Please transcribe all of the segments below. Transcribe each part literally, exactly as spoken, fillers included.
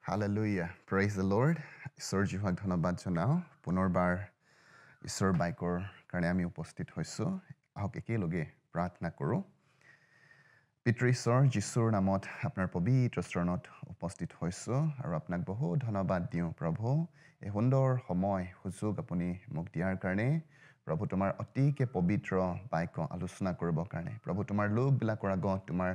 Hallelujah praise the Lord ঈশ্বৰ যিহোৱাক ধন্যবাদ জনাওঁ পুনৰবাৰ ঈশ্বৰৰ বাক্যৰ কাৰণে আমি উপস্থিত হৈছোঁ আহক একেলগে প্ৰাৰ্থনা কৰোঁ পিতৃ ঈশ্বৰ যীশুৰ নামত আপোনাৰ পবিত্ৰ চৰণত উপস্থিত হৈছোঁ আৰু আপোনাক বহুত ধন্যবাদ দিওঁ প্ৰভু এই সুন্দৰ সময় সুযোগ আপুনি মোক দিয়াৰ কাৰণে প্ৰভু তোমাৰ অতিকে পবিত্ৰ বাক্য আলোচনা কৰিবৰ কাৰণে প্ৰভু তোমাৰ লোকবিলাকৰ আগত তোমাৰ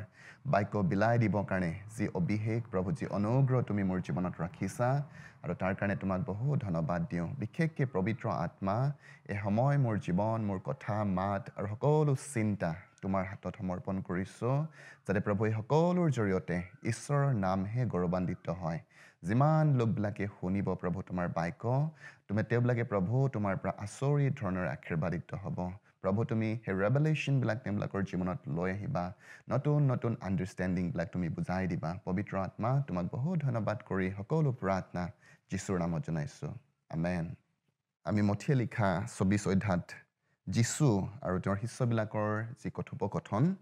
বাক্য বিলাই দিবৰ কাৰণে যি অভিষেক প্ৰভু যি অনুগ্ৰহ তুমি মোৰ জীৱনত ৰাখিছা আৰু তাৰ কাৰণে তোমাক বহুত ধন্যবাদ দিওঁ বিশেষকৈ পবিত্ৰ আত্মা এই সময় মোৰ জীৱন মোৰ কথা মাত আৰু সকলো চিন্তা তোমাৰ হাতত সমৰ্পণ কৰিছোঁ যাতে প্ৰভু এই সকলোৰ জৰিয়তে ঈশ্বৰৰ নামহে গৌৰৱান্বিত হয় যিমান লোকবিলাকে শুনিব প্ৰভু তোমাৰ বাক্য তুমি তেওঁবিলাকে প্ৰভু তোমাৰ পৰা আচৰিত ধৰণৰ আশীৰ্বাদিত হ'ব প্ৰভু তুমি সেই ৰেভেলেশ্যনবিলাক তেওঁবিলাকৰ জীৱনত লৈ আহিবা নতুন নতুন আণ্ডাৰষ্টেণ্ডিংবিলাক তুমি বুজাই দিবা পবিত্ৰ আত্মা তোমাক বহুত ধন্যবাদ কৰি সকলো প্ৰাৰ্থনা যীশুৰ নামত জনাইছোঁ আমেন আমি মথিয়ে লিখা চৌবিছ অধ্যায়ত যীশু আৰু তেওঁৰ শিষ্যবিলাকৰ যি কথোপকথন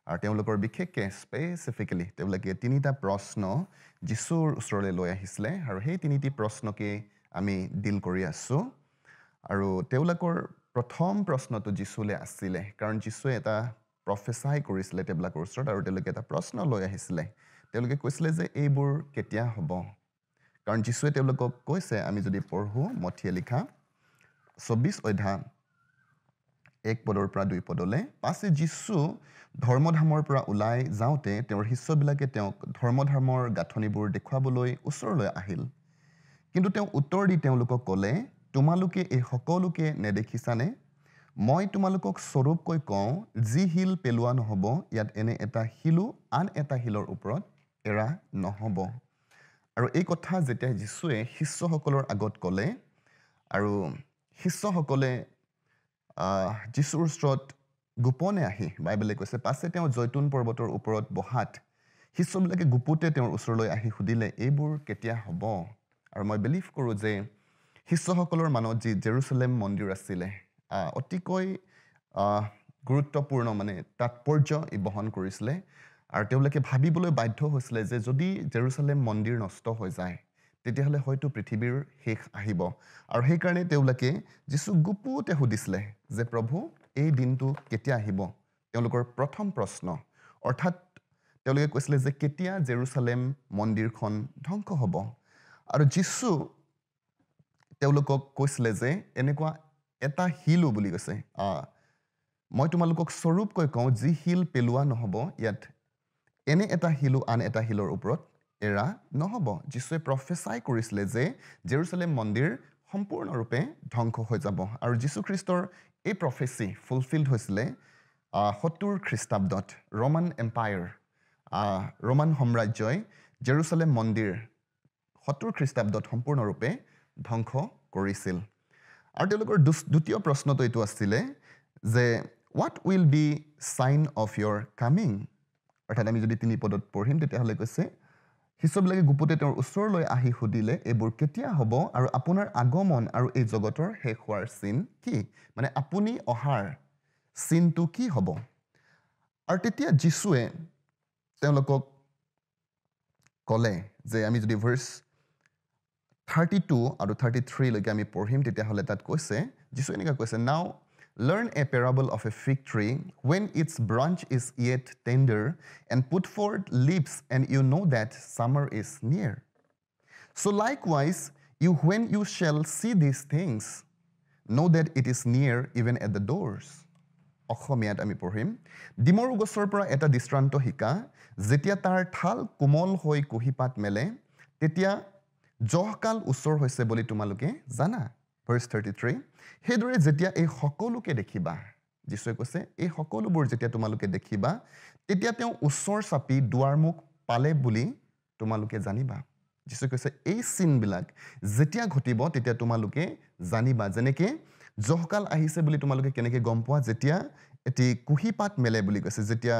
আৰু তেওঁলোকৰ বিশেষকৈ স্পেচিফিকেলি তেওঁলোকে তিনিটা প্ৰশ্ন যীশুৰ ওচৰলৈ লৈ আহিছিলে আৰু সেই তিনিটি প্ৰশ্নকে আমি ডিল কৰি আছোঁ আৰু তেওঁলোকৰ প্ৰথম প্ৰশ্নটো যীশুলৈ আছিলে কাৰণ যীশুৱে এটা প্ৰফেচাই কৰিছিলে তেওঁবিলাকৰ ওচৰত আৰু তেওঁলোকে এটা প্ৰশ্ন লৈ আহিছিলে তেওঁলোকে কৈছিলে যে এইবোৰ কেতিয়া হ'ব কাৰণ যীশুৱে তেওঁলোকক কৈছে আমি যদি পঢ়োঁ মথিয়ে লিখা চৌবিছ অধ্যায় এক পদৰ পৰা দুই পদলৈ পাছে যীশু ধৰ্মধামৰ পৰা ওলাই যাওঁতে তেওঁৰ শিষ্যবিলাকে তেওঁক ধৰ্মধামৰ গাঁথনিবোৰ দেখুৱাবলৈ ওচৰলৈ আহিল কিন্তু তেওঁ উত্তৰ দি তেওঁলোকক ক'লে তোমালোকে এই সকলোকে নেদেখিছানে মই তোমালোকক স্বৰূপকৈ কওঁ যি শিল পেলোৱা নহ'ব ইয়াত এনে এটা শিলো আন এটা শিলৰ ওপৰত এৰা নহ'ব আৰু এই কথা যেতিয়া যীশুৱে শিষ্যসকলৰ আগত ক'লে আৰু শিষ্যসকলে যীশুৰ ওচৰত গোপনে আহি বাইবেলে কৈছে পাছে তেওঁ জৈতুন পৰ্বতৰ ওপৰত বহাত শিষ্যবিলাকে গুপুতে তেওঁৰ ওচৰলৈ আহি সুধিলে এইবোৰ কেতিয়া হ'ব আৰু মই বিলিভ কৰোঁ যে শিষ্যসকলৰ মনত যি জেৰুচালেম মন্দিৰ আছিলে অতিকৈ গুৰুত্বপূৰ্ণ মানে তাৎপৰ্য ই বহন কৰিছিলে আৰু তেওঁলোকে ভাবিবলৈ বাধ্য হৈছিলে যে যদি জেৰুচালেম মন্দিৰ নষ্ট হৈ যায় তেতিয়াহ'লে হয়তো পৃথিৱীৰ শেষ আহিব আৰু সেইকাৰণে তেওঁলোকে যীচুক গুপুতে সুধিছিলে যে প্ৰভু এই দিনটো কেতিয়া আহিব তেওঁলোকৰ প্ৰথম প্ৰশ্ন অৰ্থাৎ তেওঁলোকে কৈছিলে যে কেতিয়া জেৰুচালেম মন্দিৰখন ধ্বংস হ'ব আৰু যীচু তেওঁলোকক কৈছিলে যে এনেকুৱা এটা শিলো বুলি কৈছে মই তোমালোকক স্বৰূপকৈ কওঁ যি শিল পেলোৱা নহ'ব ইয়াত এনে এটা শিলো আন এটা শিলৰ ওপৰত এৰা নহ'ব যীশুৱে প্ৰফেচাই কৰিছিলে যে জেৰুচালেম মন্দিৰ সম্পূৰ্ণৰূপে ধ্বংস হৈ যাব আৰু যীশুখ্ৰীষ্টৰ এই প্ৰফেচি ফুলফিল্ড হৈছিলে সত্তৰ খ্ৰীষ্টাব্দত ৰোমান এম্পায়াৰ ৰোমান সাম্ৰাজ্যই জেৰুচালেম মন্দিৰ সত্তৰ খ্ৰীষ্টাব্দত সম্পূৰ্ণৰূপে ধ্বংস কৰিছিল আৰু তেওঁলোকৰ দ্বিতীয় প্ৰশ্নটো এইটো আছিলে যে What will be sign of your coming অৰ্থাৎ আমি যদি তিনি পদত পঢ়িম তেতিয়াহ'লে কৈছে শিষ্যবিলাকে গুপুতে তেওঁৰ ওচৰলৈ আহি সুধিলে এইবোৰ কেতিয়া হ'ব আৰু আপোনাৰ আগমন আৰু এই জগতৰ শেষ হোৱাৰ চিন কি মানে আপুনি অহাৰ চিনটো কি হ'ব আৰু তেতিয়া যীশুৱে তেওঁলোকক ক'লে যে আমি যদি ভাৰ্চ থাৰ্টি টু আৰু থাৰ্টি থ্ৰীলৈকে আমি পঢ়িম তেতিয়াহ'লে তাত কৈছে যীশুৱে এনেকুৱা কৈছে Now learn a parable of a fig tree when its branch is yet tender and put forth leaves and you know that summer is near so likewise you when you shall see these things know that it is near even at the doors অসমীয়াত আমি পঢ়িম ডিমৰু গছৰ পৰা এটা দৃষ্টান্ত শিকা যেতিয়া তাৰ ঠাল কোমল হৈ কুঁহিপাত মেলে তেতিয়া জহকাল ওচৰ হৈছে বুলি তোমালোকে জানা ভাৰ্চ থাৰ্টি থ্ৰী সেইদৰে যেতিয়া এই সকলোকে দেখিবা যীশুৱে কৈছে এই সকলোবোৰ যেতিয়া তোমালোকে দেখিবা তেতিয়া তেওঁ ওচৰ চাপি দুৱাৰমুখ পালে বুলি তোমালোকে জানিবা যীশুৱে কৈছে এই চিনবিলাক যেতিয়া ঘটিব তেতিয়া তোমালোকে জানিবা যেনেকৈ জহকাল আহিছে বুলি তোমালোকে কেনেকৈ গম পোৱা যেতিয়া এটি কুঁহিপাত মেলে বুলি কৈছে যেতিয়া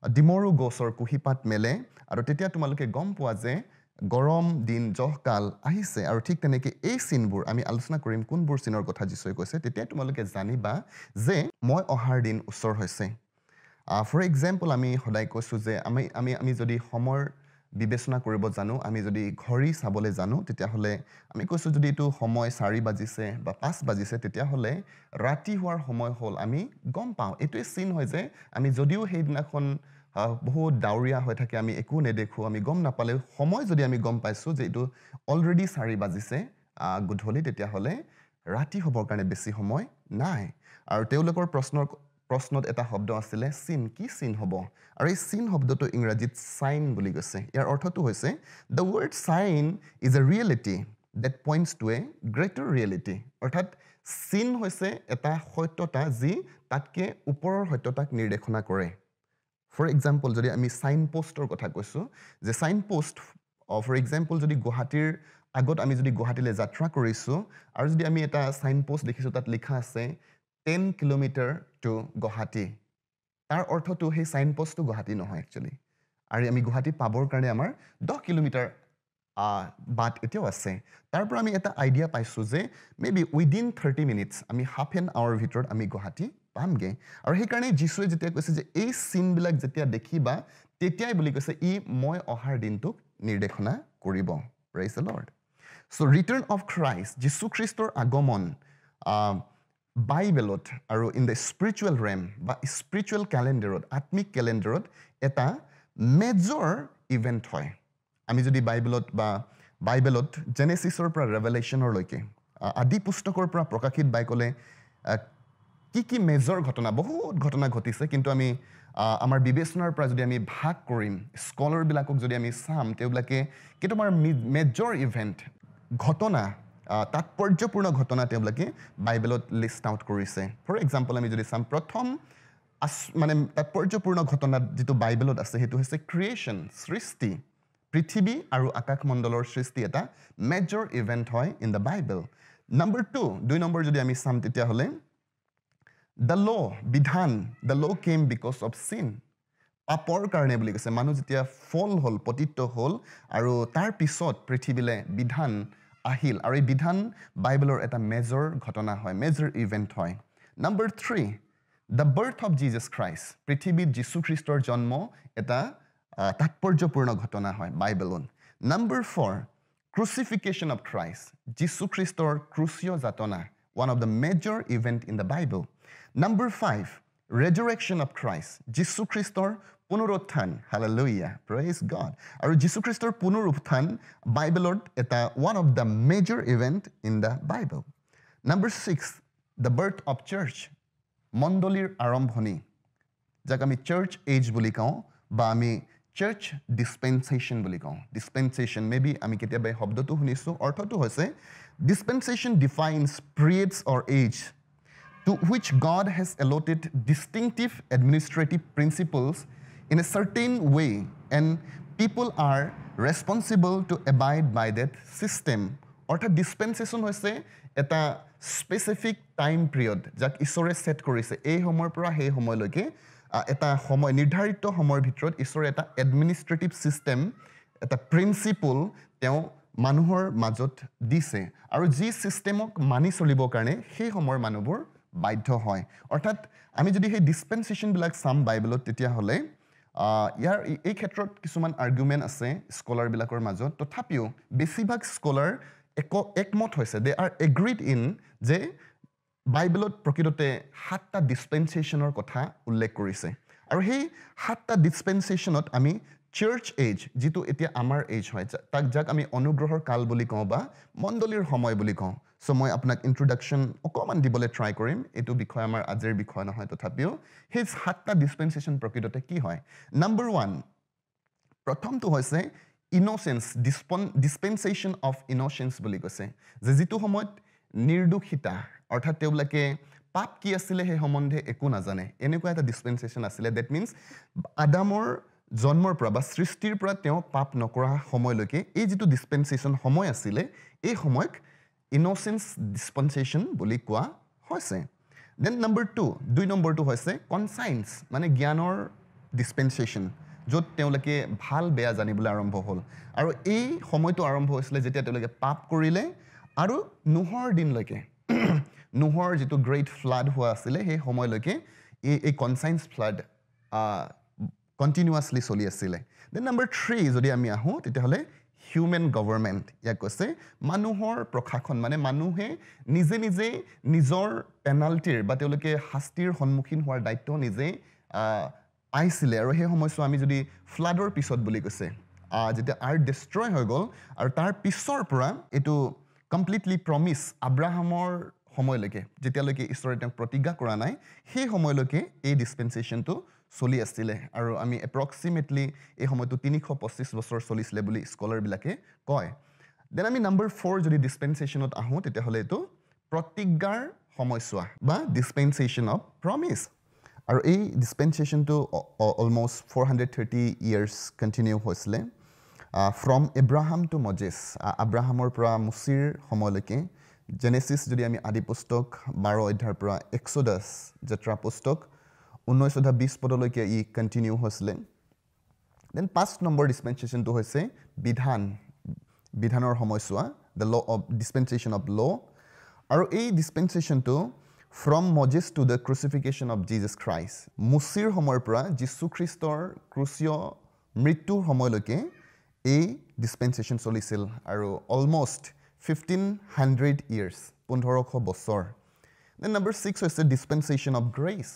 ডিমৰু গছৰ কুঁহিপাত মেলে আৰু তেতিয়া তোমালোকে গম পোৱা যে গৰম দিন জহকাল আহিছে আৰু ঠিক তেনেকৈ এই চিনবোৰ আমি আলোচনা কৰিম কোনবোৰ চিনৰ কথা যীশুৱে কৈছে তেতিয়া তোমালোকে জানিবা যে মই অহাৰ দিন ওচৰ হৈছে ফৰ এক্সাম্পল আমি সদায় কৈছোঁ যে আমি আমি আমি যদি সময়ৰ বিবেচনা কৰিব জানো, আমি যদি ঘড়ী চাবলৈ জানো, তেতিয়াহ'লে আমি কৈছোঁ যদি এইটো সময় চাৰি বাজিছে বা পাঁচ বাজিছে, তেতিয়াহ'লে ৰাতি হোৱাৰ সময় হ'ল, আমি গম পাওঁ। এইটোৱে চিন হয় যে আমি যদিও সেইদিনাখন বহুত ডাৱৰীয়া হৈ থাকে, আমি একো নেদেখোঁ, আমি গম নাপালেও সময় যদি আমি গম পাইছোঁ যে এইটো অলৰেডি চাৰি বাজিছে গধূলি, তেতিয়াহ'লে ৰাতি হ'বৰ কাৰণে বেছি সময় নাই। আৰু তেওঁলোকৰ প্ৰশ্নৰ প্ৰশ্নত এটা শব্দ আছিলে চিন, কি চিন হ'ব? আৰু এই চিন শব্দটো ইংৰাজীত চাইন বুলি কৈছে। ইয়াৰ অৰ্থটো হৈছে the word sign is a reality that points to a greater reality. অৰ্থাৎ চিন হৈছে এটা সত্যতা যি তাতকৈ ওপৰৰ সত্যতাক নিৰ্দেশনা কৰে। ফৰ এক্সাম্পল, যদি আমি চাইন প'ষ্টৰ কথা কৈছোঁ যে চাইন প'ষ্ট, ফৰ এক্সাম্পল যদি গুৱাহাটীৰ আগত আমি যদি গুৱাহাটীলৈ যাত্ৰা কৰিছোঁ আৰু যদি আমি এটা চাইন প'ষ্ট দেখিছোঁ, তাত লিখা আছে টেন কিলোমিটাৰ টু গুৱাহাটী, তাৰ অৰ্থটো সেই চাইন প'ষ্টটো গুৱাহাটী নহয় একচুৱেলি। আৰু আমি গুৱাহাটী পাবৰ কাৰণে আমাৰ দহ কিলোমিটাৰ বাট এতিয়াও আছে। তাৰ পৰা আমি এটা আইডিয়া পাইছোঁ যে may be within thirty minutes, আমি হাফ এন আৱাৰৰ ভিতৰত আমি গুৱাহাটী পামগৈ। আৰু সেইকাৰণে যীশুৱে যেতিয়া কৈছে যে এই চিনবিলাক যেতিয়া দেখিবা তেতিয়াই বুলি কৈছে, ই মই অহাৰ দিনটোক নিৰ্দেশনা কৰিব। Praise the Lord. So return of Christ, যীশুখ্ৰীষ্টৰ আগমন বাইবেলত আৰু ইন the spiritual RAM বা স্পিৰিচুৱেল কেলেণ্ডাৰত, আত্মিক কেলেণ্ডাৰত এটা মেজৰ ইভেণ্ট হয়। আমি যদি বাইবেলত বা বাইবেলত জেনেচিছৰ পৰা ৰেভেলেশ্যনৰলৈকে, আদি পুস্তকৰ পৰা প্ৰকাশিত বাইকলে কি কি মেজৰ ঘটনা, বহুত ঘটনা ঘটিছে, কিন্তু আমি আমাৰ বিবেচনাৰ পৰা যদি আমি ভাগ কৰিম, স্কলাৰবিলাকক যদি আমি চাম, তেওঁবিলাকে কেইটামান মেজৰ ইভেণ্ট ঘটনা, তাৎপৰ্যপূৰ্ণ ঘটনা তেওঁবিলাকে বাইবেলত লিষ্ট আউট কৰিছে। ফৰ এক্সাম্পল আমি যদি চাম, প্ৰথম আচ মানে তাৎপৰ্যপূৰ্ণ ঘটনা যিটো বাইবেলত আছে সেইটো হৈছে ক্ৰিয়েশ্যন, সৃষ্টি। পৃথিৱী আৰু আকাশমণ্ডলৰ সৃষ্টি এটা মেজৰ ইভেণ্ট হয় in the Bible. Number two, দুই নম্বৰ যদি আমি চাম তেতিয়াহ'লে the ল', বিধান, the law came because of sin, পাপৰ কাৰণে বুলি কৈছে। মানুহ যেতিয়া ফল হ'ল, পতিত হ'ল, আৰু তাৰ পিছত পৃথিৱীলৈ বিধান আহিল, আৰু এই বিধান বাইবেলৰ এটা মেজৰ ঘটনা হয়, মেজৰ ইভেণ্ট হয়। Number three, the birth of Jesus Christ, পৃথিৱীত যীশুখ্ৰীষ্টৰ জন্ম এটা তাৎপৰ্যপূৰ্ণ ঘটনা হয় বাইবেলত। Number four, crucifixion of Christ, যীশুখ্ৰীষ্টৰ ক্ৰুচীয় যাতনা, one of the major event in the Bible. Number five, resurrection of Christ, যীশুখ্ৰীষ্টৰ পুনৰুত্থান। Hallelujah, praise God. আৰু যীশুখ্ৰীষ্টৰ পুনৰুত্থান বাইবেলত এটা one of the major event in the Bible. Number six, the birth of church, মণ্ডলীৰ আৰম্ভণি, যাক আমি চাৰ্চ এজ বুলি কওঁ বা আমি চাৰ্চ ডিছপেনচেশ্যন বুলি কওঁ। ডিছপেনচেশ্যন মে বি আমি কেতিয়াবা এই শব্দটো শুনিছোঁ। অৰ্থটো হৈছে dispensation defines periods or age to which God has allotted distinctive administrative principles in a certain way, and people are responsible to abide by that system. অৰ্থাৎ ডিছপেনচেশ্যন হৈছে এটা স্পেচিফিক টাইম পিৰিয়ড যাক ঈশ্বৰে ছেট কৰিছে। এই সময়ৰ পৰা সেই সময়লৈকে এটা সময়, নিৰ্ধাৰিত সময়ৰ ভিতৰত ঈশ্বৰে এটা এডমিনিষ্ট্ৰেটিভ ছিষ্টেম, এটা প্ৰিন্সিপল তেওঁ মানুহৰ মাজত দিছে, আৰু যি ছিষ্টেমক মানি চলিবৰ কাৰণে সেই সময়ৰ মানুহবোৰ বাধ্য হয়। অৰ্থাৎ আমি যদি সেই ডিছপেনচেশ্যনবিলাক চাম বাইবেলত, তেতিয়াহ'লে ইয়াৰ এই ক্ষেত্ৰত কিছুমান আৰ্গুমেণ্ট আছে স্কলাৰবিলাকৰ মাজত। তথাপিও বেছিভাগ স্কলাৰ এক একমত হৈছে, দে আৰ এগ্ৰিড ইন যে বাইবেলত প্ৰকৃততে সাতটা ডিছপেনচেশ্যনৰ কথা উল্লেখ কৰিছে। আৰু সেই সাতটা ডিছপেনচেশ্যনত আমি চাৰ্চ এজ, যিটো এতিয়া আমাৰ এজ হয়, তাক যাক আমি অনুগ্ৰহৰ কাল বুলি কওঁ বা মণ্ডলীৰ সময় বুলি কওঁ। চ' মই আপোনাক ইণ্ট্ৰডাকশ্যন অকণমান দিবলৈ ট্ৰাই কৰিম, এইটো বিষয় আমাৰ আজিৰ বিষয় নহয়, তথাপিও সেই সাতটা ডিছপেনচেশ্যন প্ৰকৃততে কি হয়। নাম্বাৰ ওৱান, প্ৰথমটো হৈছে ইন'চেঞ্চ, ডিছপন ডিছপেনচেশ্যন অফ ইন'চেঞ্চ বুলি কৈছে, যে যিটো সময়ত নিৰ্দোষিতা, অৰ্থাৎ তেওঁবিলাকে পাপ কি আছিলে সেই সম্বন্ধে একো নাজানে, এনেকুৱা এটা ডিছপেনচেশ্যন আছিলে। That means আদামৰ জন্মৰ পৰা বা সৃষ্টিৰ পৰা তেওঁ পাপ নকৰা সময়লৈকে এই যিটো ডিছপেনচেশ্যন সময় আছিলে, এই সময়ক ইন'চেঞ্চ ডিছপেনচেশ্যন বুলি কোৱা হৈছে। Then number two, দুই নম্বৰটো হৈছে কনচাইন্স, মানে জ্ঞানৰ ডিছপেনচেশ্যন, য'ত তেওঁলোকে ভাল বেয়া জানিবলৈ আৰম্ভ হ'ল। আৰু এই সময়টো আৰম্ভ হৈছিলে যেতিয়া তেওঁলোকে পাপ কৰিলে, আৰু নোহৰ দিনলৈকে, নোহৰ যিটো গ্ৰেট ফ্লাড হোৱা আছিলে সেই সময়লৈকে এই এই কনচাইন্স ফ্লাড কণ্টিনিউৱাছলি চলি আছিলে। Then number three যদি আমি আহোঁ তেতিয়াহ'লে হিউমেন গভৰ্ণমেণ্ট, ইয়াক কৈছে মানুহৰ প্ৰশাসন, মানে মানুহে নিজে নিজে নিজৰ পেনাল্টিৰ বা তেওঁলোকে শাস্তিৰ সন্মুখীন হোৱাৰ দায়িত্ব নিজে পাইছিলে। আৰু সেই সময়ছোৱা আমি যদি ফ্লাডৰ পিছত বুলি কৈছে, যেতিয়া আৰ্থ ডিষ্ট্ৰয় হৈ গ'ল আৰু তাৰ পিছৰ পৰা এইটো কমপ্লিটলি প্ৰমিছ আব্ৰাহামৰ সময়লৈকে, যেতিয়ালৈকে ঈশ্বৰে তেওঁক প্ৰতিজ্ঞা কৰা নাই সেই সময়লৈকে এই ডিছপেঞ্চেশ্যনটো চলি আছিলে। আৰু আমি এপ্ৰক্সিমেটলি এই সময়টো তিনিশ পঁচিছ বছৰ চলিছিলে বুলি স্কলাৰবিলাকে কয়। Then আমি নাম্বাৰ ফ'ৰ যদি ডিছপেঞ্চেশ্যনত আহোঁ তেতিয়াহ'লে এইটো প্ৰতিজ্ঞাৰ সময়ছোৱা বা ডিছপেঞ্চেশ্যন অফ প্ৰমিছ। আৰু এই ডিছপেঞ্চেশ্যনটো almost four hundred thirty years continue হৈছিলে, ফ্ৰম এব্ৰাহাম টু মজেছ, আব্ৰাহামৰ পৰা মুচিৰ সময়লৈকে। জেনেচিছ যদি আমি আদি পুস্তক বাৰ অধ্যায়ৰ পৰা এক্সোডাছ যাত্ৰা পুস্তক ঊনৈছ অধ্যায় বিছ পদলৈকে ই কণ্টিনিউ হৈছিলে। Then পাঁচ নম্বৰ ডিছপেঞ্চেশ্যনটো হৈছে বিধান, বিধানৰ সময়ছোৱা, the law of dispensation of law. আৰু এই ডিছপেঞ্চেশ্যনটো from Moses to the crucifixion of Jesus Christ, মুচিৰ সময়ৰ পৰা যীশুখ্ৰীষ্টৰ ক্ৰুচীয় মৃত্যুৰ সময়লৈকে এই ডিছপেঞ্চেশ্যন চলিছিল আৰু অলমষ্ট ফিফটিন হাণ্ড্ৰেড ইয়াৰ্ছ, পোন্ধৰশ বছৰ। Then number six হৈছে ডিছপেঞ্চেশ্যন অফ গ্ৰেচ,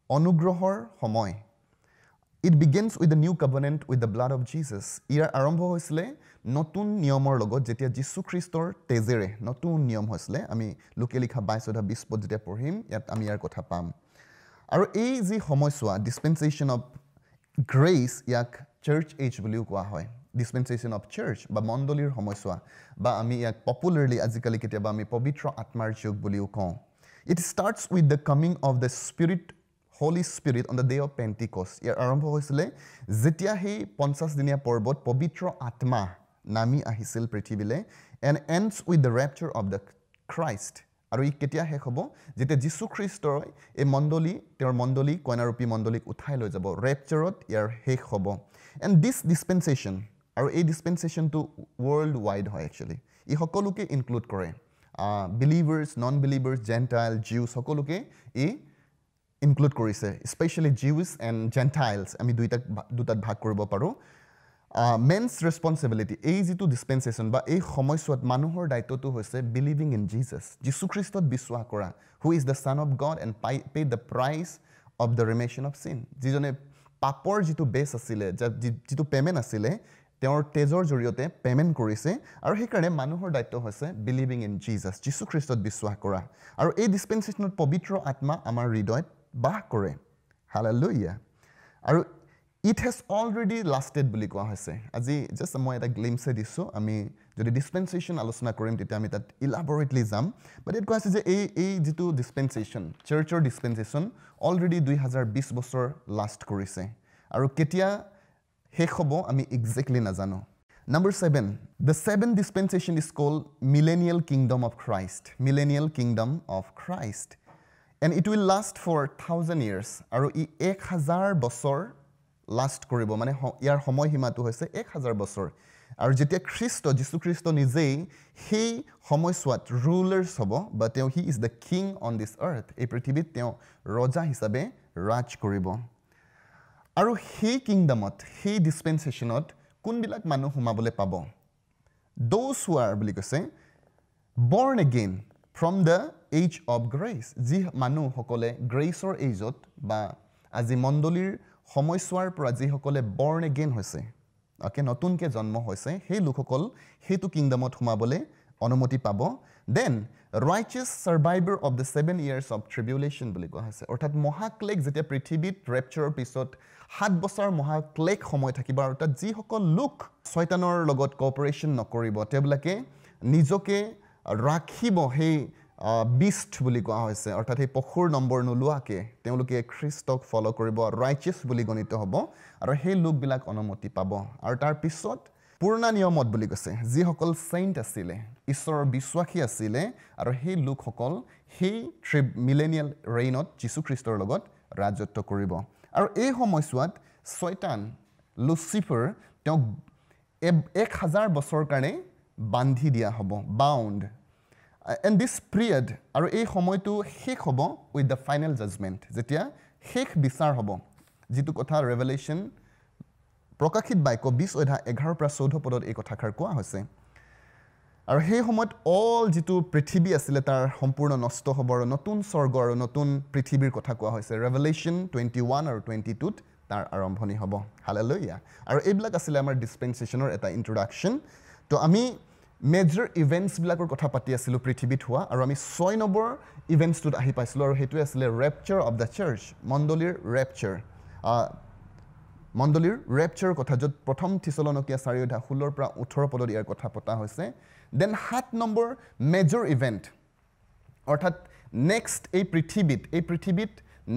অনুগ্ৰহৰ সময়। It begins with the new covenant with the blood of Jesus. ইয়াৰ আৰম্ভ হৈছিলে নতুন নিয়মৰ লগত, যেতিয়া যীশুখ্ৰীষ্টৰ তেজেৰে নতুন নিয়ম হৈছিলে। আমি লোকে লিখা বাইছ অধ্যায় বিছ পদ যেতিয়া পঢ়িম ইয়াত আমি ইয়াৰ কথা পাম। আৰু এই যি সময়ছোৱা ডিছপেঞ্চেশ্যন অফ গ্ৰেচ, ইয়াক চাৰ্চ এজ বুলিও কোৱা হয়, ডিছপেঞ্চেশ্যন অফ চাৰ্চ বা মণ্ডলীৰ সময়ছোৱা, বা আমি ইয়াক পপুলাৰলি আজিকালি কেতিয়াবা আমি পবিত্ৰ আত্মাৰ যুগ বুলিও কওঁ। It starts with the coming of the Spirit, Holy Spirit on the day of Pentecost. ইয়াৰ আৰম্ভ হৈছিলে যেতিয়া সেই পঞ্চাছদিনীয়া পৰ্বত পবিত্ৰ আত্মা নামি আহিছিল পৃথিৱীলৈ, and ends with the rapture of the Christ. আৰু ই কেতিয়া শেষ হ'ব? যেতিয়া যীশুখ্ৰীষ্টই এই মণ্ডলী, তেওঁৰ মণ্ডলী, কইনাৰূপী মণ্ডলীক উঠাই লৈ যাব, ৰেপচাৰত ইয়াৰ শেষ হ'ব। এণ্ড this ডিছপেঞ্চেশ্যন, আৰু এই ডিছপেঞ্চেশ্যনটো ৱৰ্ল্ড ৱাইড হয় একচুৱেলি, ই সকলোকে ইনক্লুড কৰে, believers, non believers, Gentile, Jews সকলোকে ই ইনক্লুড কৰিছে, স্পেচিয়েলি জিউছ এণ্ড জেণ্টাইলছ, আমি দুইটাক দুটাত ভাগ কৰিব পাৰোঁ। মেনছ ৰেচপনচিবিলিটি, এই যিটো ডিছপেঞ্চেশ্যন বা এই সময়ছোৱাত মানুহৰ দায়িত্বটো হৈছে বিলিভিং ইন জিজাছ, যীশুখ্ৰীষ্টত বিশ্বাস কৰা, who is the son of God and pay pay the price of the remission of sin. যিজনে পাপৰ যিটো বেচ আছিলে, যিটো পে'মেণ্ট আছিলে, তেওঁৰ তেজৰ জৰিয়তে পে'মেণ্ট কৰিছে। আৰু সেইকাৰণে মানুহৰ দায়িত্ব হৈছে বিলিভিং ইন জিজাছ, যীশুখ্ৰীষ্টত বিশ্বাস কৰা। আৰু এই ডিছপেঞ্চেশ্যনত পবিত্ৰ আত্মা আমাৰ হৃদয়ত বাস কৰে। হালেলুয়া। আৰু it has already lasted বুলি কোৱা হৈছে। আজি জাষ্ট মই এটা গ্লিমছে দিছোঁ, আমি যদি ডিছপেঞ্চেশ্যন আলোচনা কৰিম তেতিয়া আমি তাত ইলাবৰেটলি যাম। বাট ইয়াত কোৱা হৈছে যে এই এই যিটো ডিছপেঞ্চেশ্যন, চাৰ্চৰ ডিছপেঞ্চেশ্যন অলৰেডি দুই হাজাৰ বিছ বছৰ লাষ্ট কৰিছে, আৰু কেতিয়া শেষ হ'ব আমি একজেক্টলি নাজানো। Number seven, the seven dispensation is called millennial kingdom of Christ, millennial kingdom of Christ, and it will last for thousand years. আৰু ই এক হাজাৰ বছৰ লাষ্ট কৰিব, মানে ইয়াৰ সময়সীমাটো হৈছে এক হাজাৰ বছৰ। আৰু যেতিয়া খ্ৰীষ্ট, যীশুখ্ৰীষ্ট নিজেই সেই সময়ছোৱাত ৰুলাৰ্ছ হ'ব, বা তেওঁ he is the king on this earth, এই পৃথিৱীত তেওঁ ৰজা হিচাপে ৰাজ কৰিব। আৰু সেই কিংডমত, সেই ডিছপেঞ্চেশ্যনত কোনবিলাক মানুহ সোমাবলৈ পাব? Those who R বুলি কৈছে born again from the age of grace, যি মানুহসকলে গ্ৰেচৰ এইজত বা আজি মণ্ডলীৰ সময়ছোৱাৰ পৰা যিসকলে বৰ্ণ এগেইন হৈছে, অ'কে, নতুনকৈ জন্ম হৈছে, সেই লোকসকল সেইটো কিংডমত সোমাবলৈ অনুমতি পাব। Then righteous survivor of the seven years of tribulation বুলি কোৱা হৈছে। অৰ্থাৎ মহাক্লেশ যেতিয়া পৃথিৱীত ৰেপচাৰৰ পিছত সাত বছৰ মহাক্লেশ সময় থাকিব, আৰু তাত যিসকল লোক ছয়তানৰ লগত কোঅপাৰেশ্যন নকৰিব, তেওঁবিলাকে নিজকে ৰাখিব সেই বিষ্ট বুলি কোৱা হৈছে, অৰ্থাৎ সেই পশুৰ নম্বৰ নোলোৱাকৈ তেওঁলোকে খ্ৰীষ্টক ফ'ল' কৰিব, ৰাইচিয়াছ বুলি গণিত হ'ব, আৰু সেই লোকবিলাক অনুমতি পাব। আৰু তাৰপিছত পুৰণা নিয়মত বুলি কৈছে যিসকল চেইণ্ট আছিলে, ঈশ্বৰৰ বিশ্বাসী আছিলে, আৰু সেই লোকসকল সেই ট্ৰি মিলেনিয়েল ৰেইনত যীশুখ্ৰীষ্টৰ লগত ৰাজত্ব কৰিব। আৰু এই সময়ছোৱাত ছয়তান লুচিফাৰ তেওঁক এক হাজাৰ বছৰৰ কাৰণে বান্ধি দিয়া হ'ব, বাউণ্ড। এণ্ড this period, আৰু এই সময়টো শেষ হ'ব উইথ the final judgement, যেতিয়া শেষ বিচাৰ হ'ব, যিটো কথা ৰেভেলেশ্যন প্ৰকাশিত বাক্য বিছ অধ্যায় এঘাৰৰ পৰা চৈধ্য পদত এই কথাষাৰ কোৱা হৈছে। আৰু সেই সময়ত অল যিটো পৃথিৱী আছিলে তাৰ সম্পূৰ্ণ নষ্ট হ'ব আৰু নতুন স্বৰ্গ আৰু নতুন পৃথিৱীৰ কথা কোৱা হৈছে। ৰেভেলেশ্যন টুৱেণ্টি ওৱান আৰু টুৱেণ্টি টুত তাৰ আৰম্ভণি হ'ব। হালেলুয়া। আৰু এইবিলাক আছিলে আমাৰ ডিছপেনচেশ্যনৰ এটা ইণ্ট্ৰডাকশ্যন। তো আমি মেজৰ ইভেণ্টছবিলাকৰ কথা পাতি আছিলোঁ পৃথিৱীত হোৱা, আৰু আমি ছয় নম্বৰ ইভেণ্টছটোত আহি পাইছিলোঁ, আৰু সেইটোৱে আছিলে ৰেপচাৰ অফ the search, মণ্ডলীৰ ৰেপচাৰ, মণ্ডলীৰ ৰেপচাৰৰ কথা, য'ত প্ৰথম থিচলনকীয়া চাৰি অধ্যায় ষোল্লৰ পৰা ওঠৰ পদত ইয়াৰ কথা পতা হৈছে। Then সাত নম্বৰ মেজৰ ইভেণ্ট, অৰ্থাৎ নেক্সট এই পৃথিৱীত এই পৃথিৱীত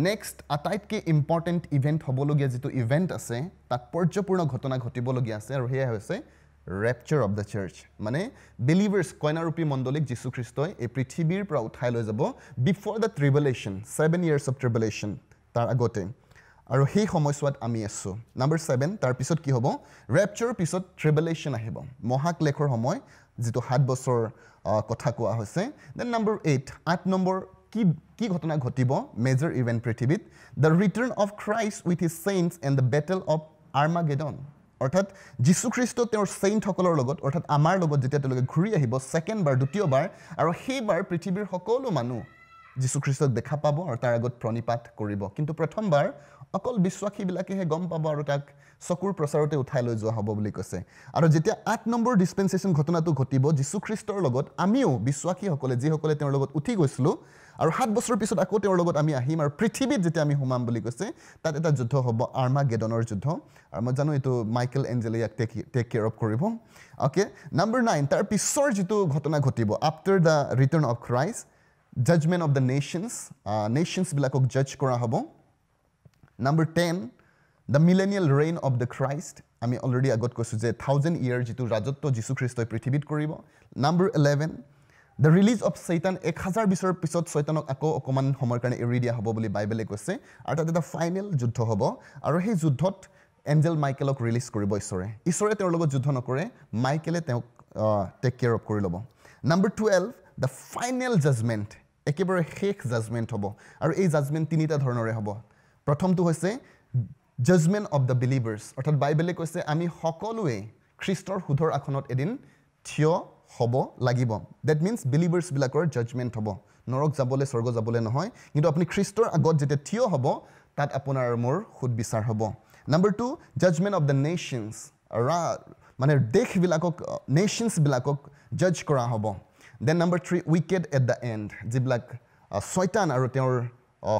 নেক্সট আটাইতকৈ ইম্পৰ্টেণ্ট ইভেণ্ট হ'বলগীয়া যিটো ইভেণ্ট আছে, তাৎপৰ্যপূৰ্ণ ঘটনা ঘটিবলগীয়া আছে, আৰু সেয়া হৈছে ৰেপচাৰ অফ the search, মানে বিলিভাৰ্ছ, কইনাৰূপী মণ্ডলীক যীশুখ্ৰীষ্টই এই পৃথিৱীৰ পৰা উঠাই লৈ যাব before the tribulation, seven years of tribulation, তাৰ আগতে। আৰু সেই সময়ছোৱাত আমি আছোঁ। নাম্বাৰ ছেভেন, তাৰপিছত কি হ'ব? ৰেপচাৰৰ পিছত ট্ৰিবুলেশ্যন আহিব, মহাক্লেশৰ সময়, যিটো সাত বছৰ কথা কোৱা হৈছে। Then number eight, আঠ নম্বৰ কি কি ঘটনা ঘটিব মেজৰ ইভেণ্ট পৃথিৱীত? The return of Christ with his saints and the battle of Armageddon, অৰ্থাৎ যীশুখ্ৰীষ্ট তেওঁৰ চেইণ্টসকলৰ লগত, অৰ্থাৎ আমাৰ লগত যেতিয়া তেওঁলোকে ঘূৰি আহিব ছেকেণ্ডবাৰ, দ্বিতীয়বাৰ, আৰু সেইবাৰ পৃথিৱীৰ সকলো মানুহ যীশুখ্ৰীষ্টক দেখা পাব আৰু তাৰ আগত প্ৰণিপাত কৰিব। কিন্তু প্ৰথমবাৰ অকল বিশ্বাসীবিলাকেহে গম পাব আৰু তাক চকুৰ প্ৰচাৰতে উঠাই লৈ যোৱা হ'ব বুলি কৈছে। আৰু যেতিয়া আঠ নম্বৰ ডিছপেনচেশ্যন ঘটনাটো ঘটিব যীশুখ্ৰীষ্টৰ লগত, আমিও বিশ্বাসীসকলে, যিসকলে তেওঁৰ লগত উঠি গৈছিলোঁ, আৰু সাত বছৰৰ পিছত আকৌ তেওঁৰ লগত আমি আহিম আৰু পৃথিৱীত যেতিয়া আমি সোমাম বুলি কৈছে, তাত এটা যুদ্ধ হ'ব, আৰ্মাগেডনৰ যুদ্ধ। আৰু মই জানো এইটো মাইকেল এঞ্জেলে ইয়াক টেক টেক কেয়াৰ অফ কৰিব। অ'কে, নাম্বাৰ নাইন, তাৰ পিছৰ যিটো ঘটনা ঘটিব after the return of Christ, judgement of the nations, নেশ্যনছবিলাকক জাজ কৰা হ'ব। Number ten, the millennial reign of the Christ, আমি অলৰেডি আগত কৈছোঁ যে থাউজেণ্ড ইয়েৰ যিটো ৰাজত্ব যীশুখ্ৰীষ্টই পৃথিৱীত কৰিব। Number eleven, the release of Satan, এক হাজাৰ বছৰৰ পিছত ছয়তানক আকৌ অকণমান সময়ৰ কাৰণে এৰি দিয়া হ'ব বুলি বাইবেলে কৈছে। আৰু তাত এটা ফাইনেল যুদ্ধ হ'ব, আৰু সেই যুদ্ধত এঞ্জেল মাইকেলক ৰিলিজ কৰিব ঈশ্বৰে। ঈশ্বৰে তেওঁৰ লগত যুদ্ধ নকৰে, মাইকেলে তেওঁক টেক কেয়াৰ অফ কৰি ল'ব। Number twelve, the final judgement, একেবাৰে শেষ জাজমেণ্ট হ'ব। আৰু এই জাজমেণ্ট তিনিটা ধৰণৰে হ'ব। প্ৰথমটো হৈছে জাজমেণ্ট অফ the believers, অৰ্থাৎ বাইবেলে কৈছে আমি সকলোৱে খ্ৰীষ্টৰ সুধৰ আসনত এদিন থিয় হ'ব লাগিব। That means বিলিভাৰ্ছবিলাকৰ জাজমেণ্ট হ'ব, নৰক যাবলৈ স্বৰ্গ যাবলৈ নহয়, কিন্তু আপুনি খ্ৰীষ্টৰ আগত যেতিয়া থিয় হ'ব তাত আপোনাৰ মোৰ সুদ বিচাৰ হ'ব। Number two, judgement of the nations, মানে দেশবিলাকক, নেশ্যনছবিলাকক জাজ কৰা হ'ব। Then number three, wicked at the end, যিবিলাক ছয়তান আৰু তেওঁৰ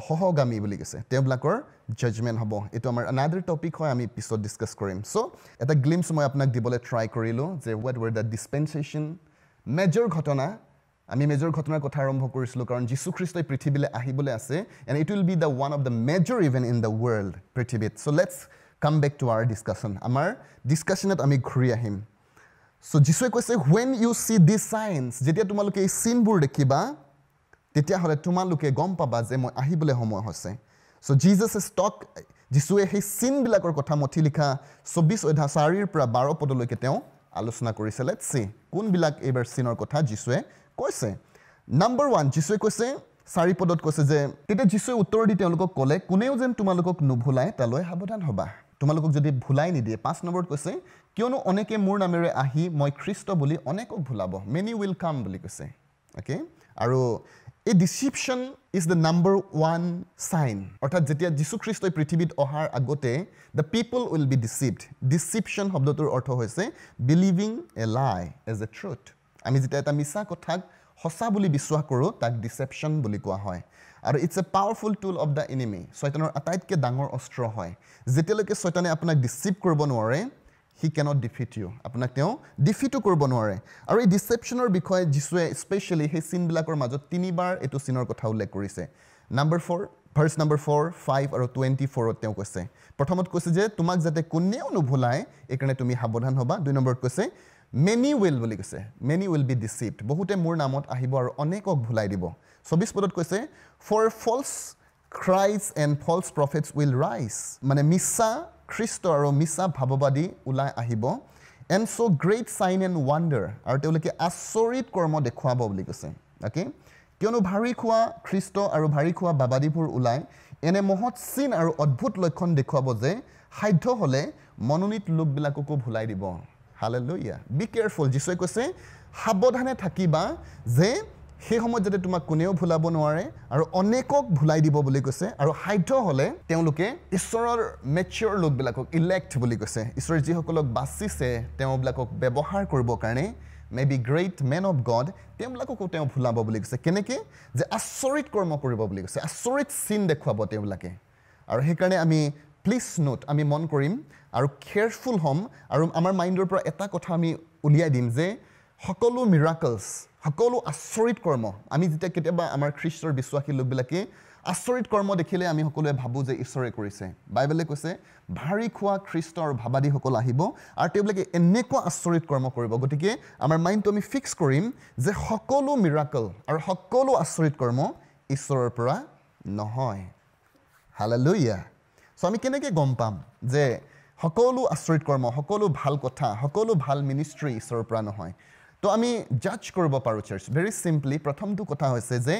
সহগামী বুলি কৈছে, তেওঁবিলাকৰ জাজমেণ্ট হ'ব। এইটো আমাৰ আনাডাৰ টপিক হয়, আমি পিছত ডিছকাছ কৰিম। চ' এটা গ্লিমছ মই আপোনাক দিবলৈ ট্ৰাই কৰিলোঁ যে what were the dispensation, major ঘটনা। আমি মেজৰ ঘটনাৰ কথা আৰম্ভ কৰিছিলোঁ কাৰণ যীশুখ্ৰীষ্টই পৃথিৱীলৈ আহিবলৈ আছে, and it will be the one of the major event in the world পৃথিৱীত। So let's come back to our discussion, আমাৰ ডিছকাশ্যনত আমি ঘূৰি আহিম। চ' যীশুৱে কৈছে when you see this signs, যেতিয়া তোমালোকে এই চিনবোৰ দেখিবা তেতিয়াহ'লে তোমালোকে গম পাবা যে মই আহিবলৈ সময় হৈছে। চ' জিজাছ is টক, যীশুৱে সেই চিনবিলাকৰ কথা মথি লিখা চৌবিছ অধ্যায় চাৰিৰ পৰা বাৰ পদলৈকে তেওঁ আলোচনা কৰিছে। Let's C কোনবিলাক এইবাৰ চিনৰ কথা যীশুৱে কৈছে। নাম্বাৰ ওৱান, যীশুৱে কৈছে চাৰি পদত কৈছে যে তেতিয়া যীশুৱে উত্তৰ দি তেওঁলোকক ক'লে, কোনেও যেন তোমালোকক নুভুলাই তালৈ সাৱধান হ'বা, তোমালোকক যদি ভুলাই নিদিয়ে। পাঁচ নম্বৰত কৈছে কিয়নো অনেকে মোৰ নামেৰে আহি মই খ্ৰীষ্ট বুলি অনেকক ভুলাব, মেনি will কাম বুলি কৈছে। অ'কে, আৰু এই deception is the number one sign, অৰ্থাৎ যেতিয়া যীশুখ্ৰীষ্টই পৃথিৱীত অহাৰ আগতে the people will be deceived. Deception শব্দটোৰ অৰ্থ হৈছে believing a lie as a truth. আমি যেতিয়া এটা মিছা কথাক সঁচা বুলি বিশ্বাস কৰোঁ তাক ডিচেপশ্যন বুলি কোৱা হয়। আৰু it's a powerful tool of the enemy, ছয়তানৰ আটাইতকৈ ডাঙৰ অস্ত্ৰ হয়। যেতিয়ালৈকে ছয়তানে আপোনাক ডিচিভ কৰিব নোৱাৰে, হি কেনট ডিফিট ইউ, আপোনাক তেওঁ ডিফিটো কৰিব নোৱাৰে। আৰু এই ডিচেপশ্যনৰ বিষয়ে যীশুৱে স্পেচিয়েলি সেই চিনবিলাকৰ মাজত তিনিবাৰ এইটো চিনৰ কথা উল্লেখ কৰিছে। Number four, verse number four, five আৰু টুৱেণ্টি ফ'ৰত তেওঁ কৈছে, প্ৰথমত কৈছে যে তোমাক যাতে কোনেও নুভুলায় এইকাৰণে তুমি সাৱধান হ'বা। দুই নম্বৰত কৈছে মেনি will বুলি কৈছে, মেনি will be ডিচিভড, বহুতে মোৰ নামত আহিব আৰু অনেকক ভুলাই দিব। চৌবিছ পদত কৈছে for false Christ and false prophets will rise, মানে মিছা খ্ৰীষ্ট আৰু মিছা ভাৱবাদী ওলাই আহিব। And show great sign and wonder, আৰু তেওঁলোকে আচৰিত কৰ্ম দেখুৱাব বুলি কৈছে। অ'কে, কিয়নো ভাৰী খোৱা খ্ৰীষ্ট আৰু ভাৰী খোৱা বাবাদীবোৰ ওলাই এনে মহৎ চিন আৰু অদ্ভুত লক্ষণ দেখুৱাব যে সাধ্য হ'লে মনোনীত লোকবিলাককো ভুলাই দিব। হালেলুয়া। Be careful. যীশুৱে কৈছে সাৱধানে থাকিবা যে সেই সময়ত যাতে তোমাক কোনেও ভুলাব নোৱাৰে আৰু অনেকক ভুলাই দিব বুলি কৈছে। আৰু সাধ্য হ'লে তেওঁলোকে ঈশ্বৰৰ মেচিয়ৰ লোকবিলাকক, ইলেক্ট বুলি কৈছে, ঈশ্বৰে যিসকলক বাচিছে তেওঁবিলাকক ব্যৱহাৰ কৰিবৰ কাৰণে may be great men of God, তেওঁবিলাককো তেওঁ ভুলাব বুলি কৈছে। কেনেকৈ? যে আচৰিত কৰ্ম কৰিব বুলি কৈছে, আচৰিত চিন দেখুৱাব তেওঁবিলাকে। আৰু সেইকাৰণে আমি প্লিজ নোট, আমি মন কৰিম আৰু কেয়াৰফুল হ'ম আৰু আমাৰ মাইণ্ডৰ পৰা এটা কথা আমি উলিয়াই দিম যে সকলো মিৰাকলছ, সকলো আচৰিত কৰ্ম, আমি যেতিয়া কেতিয়াবা আমাৰ খ্ৰীষ্টৰ বিশ্বাসী লোকবিলাকে আচৰিত কৰ্ম দেখিলে আমি সকলোৱে ভাবোঁ যে ঈশ্বৰে কৰিছে। বাইবেলে কৈছে ভাৰী খোৱা খ্ৰীষ্ট আৰু ভাবাদীসকল আহিব আৰু তেওঁবিলাকে এনেকুৱা আচৰিত কৰ্ম কৰিব। গতিকে আমাৰ মাইণ্ডটো আমি ফিক্স কৰিম যে সকলো মিৰাকল আৰু সকলো আচৰিত কৰ্ম ঈশ্বৰৰ পৰা নহয়। হালেলুয়া। চ' আমি কেনেকৈ গম পাম যে সকলো আচৰিত কৰ্ম, সকলো ভাল কথা, সকলো ভাল মিনিষ্ট্ৰী ঈশ্বৰৰ পৰা নহয়? তো আমি জাজ কৰিব পাৰোঁ চাৰ্চ ভেৰি চিম্পলি। প্ৰথমটো কথা হৈছে যে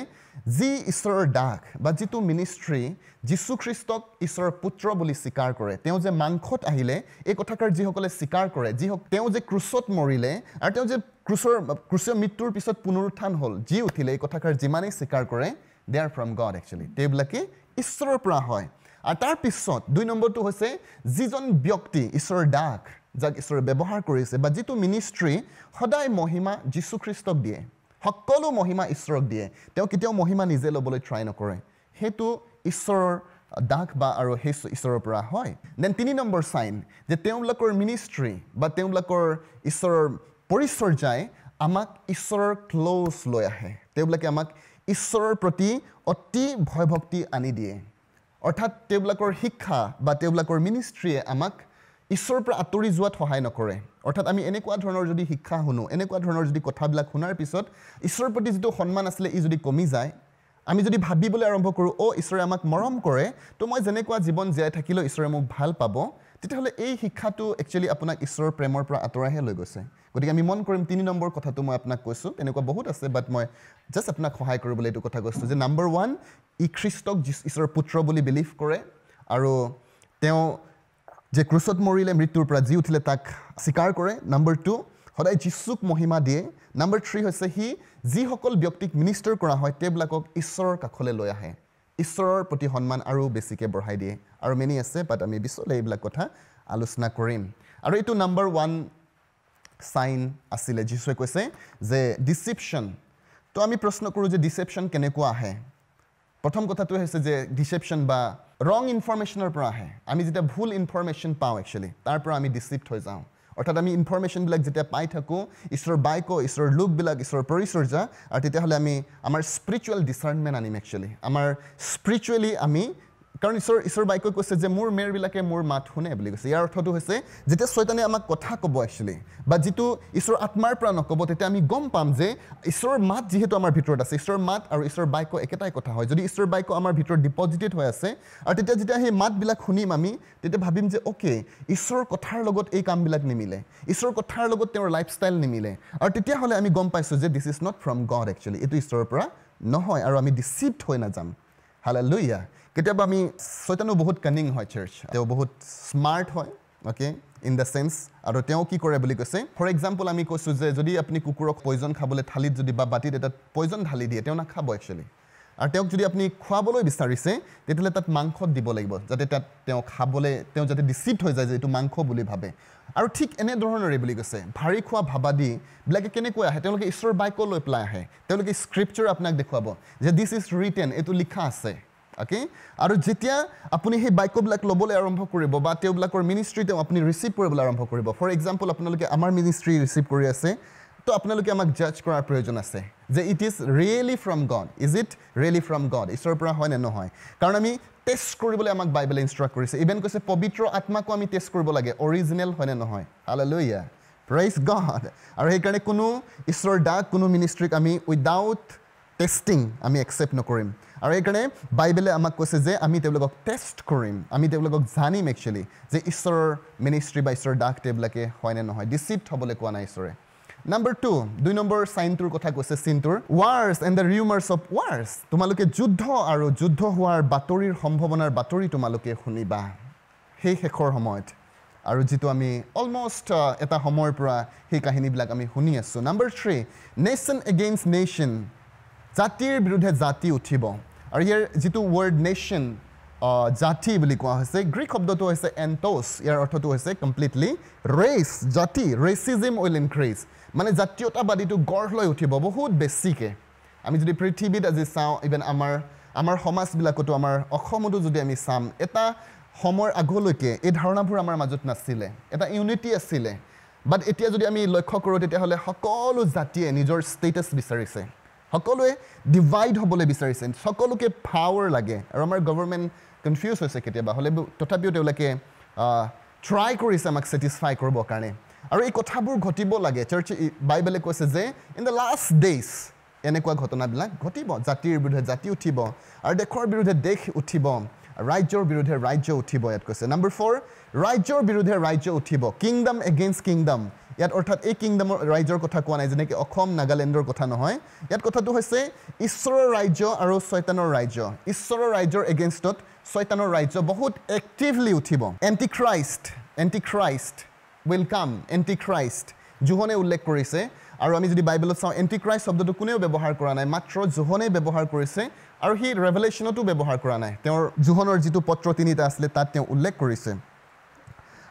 যি ঈশ্বৰৰ দাস বা যিটো মিনিষ্ট্ৰী যীশুখ্ৰীষ্টক ঈশ্বৰৰ পুত্ৰ বুলি স্বীকাৰ কৰে, তেওঁ যে মাংসত আহিলে এই কথাষাৰ যিসকলে স্বীকাৰ কৰে, যি তেওঁ যে ক্ৰুচত মৰিলে আৰু তেওঁ যে ক্ৰুচৰ ক্ৰুচীয় মৃত্যুৰ পিছত পুনৰুত্থান হ'ল, যি উঠিলে, এই কথাষাৰ যিমানেই স্বীকাৰ কৰে, they are from God actually, তেওঁবিলাকে ঈশ্বৰৰ পৰা হয়। আৰু তাৰপিছত দুই নম্বৰটো হৈছে যিজন ব্যক্তি ঈশ্বৰৰ দাস, যাক ঈশ্বৰে ব্যৱহাৰ কৰিছে বা যিটো মিনিষ্ট্ৰী সদায় মহিমা যীশুখ্ৰীষ্টক দিয়ে, সকলো মহিমা ঈশ্বৰক দিয়ে, তেওঁ কেতিয়াও মহিমা নিজে ল'বলৈ ট্ৰাই নকৰে, সেইটো ঈশ্বৰৰ দাস বা আৰু সেই ঈশ্বৰৰ পৰা হয়। Then তিনি নম্বৰ চাইন যে তেওঁলোকৰ মিনিষ্ট্ৰী বা তেওঁলোকৰ ঈশ্বৰৰ পৰিচৰ্যাই আমাক ঈশ্বৰৰ ক্ল'জ লৈ আহে, তেওঁবিলাকে আমাক ঈশ্বৰৰ প্ৰতি অতি ভয়ভক্তি আনি দিয়ে। অৰ্থাৎ তেওঁবিলাকৰ শিক্ষা বা তেওঁবিলাকৰ মিনিষ্ট্ৰীয়ে আমাক ঈশ্বৰৰ পৰা আঁতৰি যোৱাত সহায় নকৰে। অৰ্থাৎ আমি এনেকুৱা ধৰণৰ যদি শিক্ষা শুনো, এনেকুৱা ধৰণৰ যদি কথাবিলাক শুনাৰ পিছত ঈশ্বৰৰ প্ৰতি যিটো সন্মান আছিলে ই যদি কমি যায়, আমি যদি ভাবিবলৈ আৰম্ভ কৰোঁ অ' ঈশ্বৰে আমাক মৰম কৰে, তো মই যেনেকুৱা জীৱন জীয়াই থাকিলেও ঈশ্বৰে মোক ভাল পাব, তেতিয়াহ'লে এই শিক্ষাটো একচুৱেলি আপোনাক ঈশ্বৰৰ প্ৰেমৰ পৰা আঁতৰাইহে লৈ গৈছে। গতিকে আমি মন কৰিম তিনি নম্বৰ কথাটো মই আপোনাক কৈছোঁ, তেনেকুৱা বহুত আছে, বাট মই জাষ্ট আপোনাক সহায় কৰিবলৈ এইটো কথা কৈছোঁ যে নাম্বাৰ ওৱান, ই খ্ৰীষ্টক ঈশ্বৰৰ পুত্ৰ বুলি বিলিভ কৰে আৰু তেওঁ যে ক্ৰুচত মৰিলে, মৃত্যুৰ পৰা যি উঠিলে তাক স্বীকাৰ কৰে। নাম্বাৰ টু, সদায় যীশুক মহিমা দিয়ে। নাম্বাৰ থ্ৰী হৈছে সি যিসকল ব্যক্তিক মিনিষ্টাৰ কৰা হয় তেওঁবিলাকক ঈশ্বৰৰ কাষলৈ লৈ আহে, ঈশ্বৰৰ প্ৰতি সন্মান আৰু বেছিকৈ বঢ়াই দিয়ে। আৰু মেনি আছে, বাট আমি পিছলৈ এইবিলাক কথা আলোচনা কৰিম। আৰু এইটো নাম্বাৰ ওৱান চাইন আছিলে। যীশুৱে কৈছে যে ডিচিপশ্যন। তো আমি প্ৰশ্ন কৰোঁ যে ডিচেপশ্যন কেনেকুৱা আহে? প্ৰথম কথাটো হৈছে যে ডিচেপশ্যন বা ৰং ইনফৰ্মেশ্যনৰ পৰা আহে। আমি যেতিয়া ভুল ইনফৰ্মেশ্যন পাওঁ একচুৱেলি, তাৰ পৰা আমি ডিচিপ্ট হৈ যাওঁ। অৰ্থাৎ আমি ইনফৰ্মেশ্যনবিলাক যেতিয়া পাই থাকোঁ, ঈশ্বৰৰ বাক্য, ঈশ্বৰৰ লোকবিলাক, ঈশ্বৰৰ পৰিচৰ্যা, আৰু তেতিয়াহ'লে আমি আমাৰ স্পিৰিচুৱেল ডিচাৰ্ণমেণ্ট আনিম একচুৱেলি। আমাৰ স্পিৰিচুৱেলি আমি, কাৰণ ঈশ্বৰ ঈশ্বৰ বাক্যই কৈছে যে মোৰ মেৰবিলাকে মোৰ মাত শুনে বুলি কৈছে। ইয়াৰ অৰ্থটো হৈছে যেতিয়া ছয়তানে আমাক কথা ক'ব একচুৱেলি বা যিটো ঈশ্বৰৰ আত্মাৰ পৰা নক'ব, তেতিয়া আমি গম পাম যে ঈশ্বৰৰ মাত যিহেতু আমাৰ ভিতৰত আছে, ঈশ্বৰৰ মাত আৰু ঈশ্বৰৰ বাক্য একেটাই কথা হয়। যদি ঈশ্বৰৰ বাক্য আমাৰ ভিতৰত ডিপজিটেড হৈ আছে আৰু তেতিয়া যেতিয়া সেই মাতবিলাক শুনিম আমি, তেতিয়া ভাবিম যে অ'কে, ঈশ্বৰৰ কথাৰ লগত এই কামবিলাক নিমিলে, ঈশ্বৰৰ কথাৰ লগত তেওঁৰ লাইফষ্টাইল নিমিলে, আৰু তেতিয়াহ'লে আমি গম পাইছোঁ যে this is not from God actually, এইটো ঈশ্বৰৰ পৰা নহয়, আৰু আমি ডিচিপ্ট হৈ নাযাম। হালেলুয়া। কেতিয়াবা আমি, ছয়তানো বহুত কানিং হয় চাৰ্চ, তেওঁ বহুত স্মাৰ্ট হয়, অ'কে, ইন the sense. আৰু তেওঁ কি কৰে বুলি কৈছে, ফৰ এক্সাম্পল আমি কৈছোঁ যে যদি আপুনি কুকুৰক পয়জন খাবলৈ থালিত যদি বা বাতিত এটা পয়জন ঢালি দিয়ে, তেওঁ নাখাব একচুৱেলি। আৰু তেওঁক যদি আপুনি খুৱাবলৈ বিচাৰিছে, তেতিয়াহ'লে তাত মাংসত দিব লাগিব, যাতে তাত তেওঁ খাবলৈ, তেওঁ যাতে ডিচিপ্ট হৈ যায় যে এইটো মাংস বুলি ভাবে। আৰু ঠিক এনেধৰণৰে বুলি কৈছে, ভাৰী খোৱা ভাবাদীবিলাকে কেনেকৈ আহে, তেওঁলোকে ঈশ্বৰৰ বাক্য লৈ পেলাই আহে, তেওঁলোকে স্ক্ৰিপচাৰ আপোনাক দেখুৱাব যে this is written, এইটো লিখা আছে, অ'কে। আৰু যেতিয়া আপুনি সেই বাক্যবিলাক ল'বলৈ আৰম্ভ কৰিব বা তেওঁবিলাকৰ মিনিষ্ট্ৰী তেওঁ আপুনি ৰিচিভ কৰিবলৈ আৰম্ভ কৰিব, ফৰ এক্সাম্পল আপোনালোকে আমাৰ মিনিষ্ট্ৰী ৰিচিভ কৰি আছে, তো আপোনালোকে আমাক জাজ কৰাৰ প্ৰয়োজন আছে যে it is really from God, is it really from God, ঈশ্বৰৰ পৰা হয় নে নহয়। কাৰণ আমি টেষ্ট কৰিবলৈ আমাক বাইবেলে ইনষ্ট্ৰাক্ট কৰিছে। ইভেন কৈছে পবিত্ৰ আত্মাকো আমি টেষ্ট কৰিব লাগে, অৰিজিনেল হয় নে নহয়। Hallelujah, praise God. আৰু সেইকাৰণে কোনো ঈশ্বৰৰ দাস, কোনো মিনিষ্ট্ৰীক আমি উইদাউট টেষ্টিং আমি একচেপ্ট নকৰিম। আৰু সেইকাৰণে বাইবেলে আমাক কৈছে যে আমি তেওঁলোকক টেষ্ট কৰিম, আমি তেওঁলোকক জানিম একচুৱেলি যে ঈশ্বৰৰ মিনিষ্ট্ৰী বা ঈশ্বৰৰ দাস তেওঁবিলাকে হয় নে নহয়। ডিচিপ্ট হ'বলৈ কোৱা নাই ঈশ্বৰে। নাম্বাৰ টু, দুই নম্বৰ চাইনটোৰ কথা কৈছে, চিনটোৰ wars and the rumours of wars. তোমালোকে যুদ্ধ আৰু যুদ্ধ হোৱাৰ বাতৰিৰ সম্ভাৱনাৰ বাতৰি তোমালোকে শুনিবা সেই শেষৰ সময়ত, আৰু যিটো আমি অলমষ্ট এটা সময়ৰ পৰা সেই কাহিনীবিলাক আমি শুনি আছোঁ। Number three, nation against nation, জাতিৰ বিৰুদ্ধে জাতি উঠিব। আৰু ইয়াৰ যিটো ৱৰ্ড নেশ্যন, জাতি বুলি কোৱা হৈছে, গ্ৰীক শব্দটো হৈছে এণ্টছ, ইয়াৰ অৰ্থটো হৈছে কমপ্লিটলি ৰেচ, জাতি। ৰেচিজিম will increase, মানে জাতীয়তাবাদীটো গঢ় লৈ উঠিব বহুত বেছিকৈ। আমি যদি পৃথিৱীত আজি চাওঁ, ইভেন আমাৰ আমাৰ সমাজবিলাকতো, আমাৰ অসমতো যদি আমি চাম, এটা সময়ৰ আগলৈকে এই ধাৰণাবোৰ আমাৰ মাজত নাছিলে, এটা ইউনিটি আছিলে। বাট এতিয়া যদি আমি লক্ষ্য কৰোঁ, তেতিয়াহ'লে সকলো জাতিয়ে নিজৰ ষ্টেটাছ বিচাৰিছে, সকলোৱে ডিভাইড হ'বলৈ বিচাৰিছে, সকলোকে পাৱাৰ লাগে। আৰু আমাৰ গভৰ্ণমেণ্ট কনফিউজ হৈছে কেতিয়াবা হ'লে, তথাপিও তেওঁলোকে ট্ৰাই কৰিছে আমাক ছেটিছফাই কৰিবৰ কাৰণে। আৰু এই কথাবোৰ ঘটিব লাগে। চাৰ্চ বাইবেলে কৈছে যে ইন the last days এনেকুৱা ঘটনাবিলাক ঘটিব, জাতিৰ বিৰুদ্ধে জাতি উঠিব আৰু দেশৰ বিৰুদ্ধে দেশ উঠিব, ৰাজ্যৰ বিৰুদ্ধে ৰাজ্য উঠিব, ইয়াত কৈছে। নাম্বাৰ ফ'ৰ, ৰাজ্যৰ বিৰুদ্ধে ৰাজ্য উঠিব, কিংডম এগেইনষ্ট কিংডম। ইয়াত অৰ্থাৎ এই কিংডমৰ ৰাজ্যৰ কথা কোৱা নাই, যেনেকৈ অসম নাগালেণ্ডৰ কথা নহয়। ইয়াত কথাটো হৈছে ঈশ্বৰৰ ৰাজ্য আৰু ছয়তানৰ ৰাজ্য। ঈশ্বৰৰ ৰাজ্যৰ এগেইনষ্টত ছয়তানৰ ৰাজ্য বহুত এক্টিভলি উঠিব। Antichrist, antichrist will come, antichrist জোহনে উল্লেখ কৰিছে। আৰু আমি যদি বাইবেলত চাওঁ, এণ্টিক্ৰাইষ্ট শব্দটো কোনেও ব্যৱহাৰ কৰা নাই, মাত্ৰ জোহনেই ব্যৱহাৰ কৰিছে, আৰু সি ৰেভেলেশ্যনতো ব্যৱহাৰ কৰা নাই। তেওঁৰ জোহনৰ যিটো পত্ৰ তিনিটা আছিলে তাত তেওঁ উল্লেখ কৰিছে।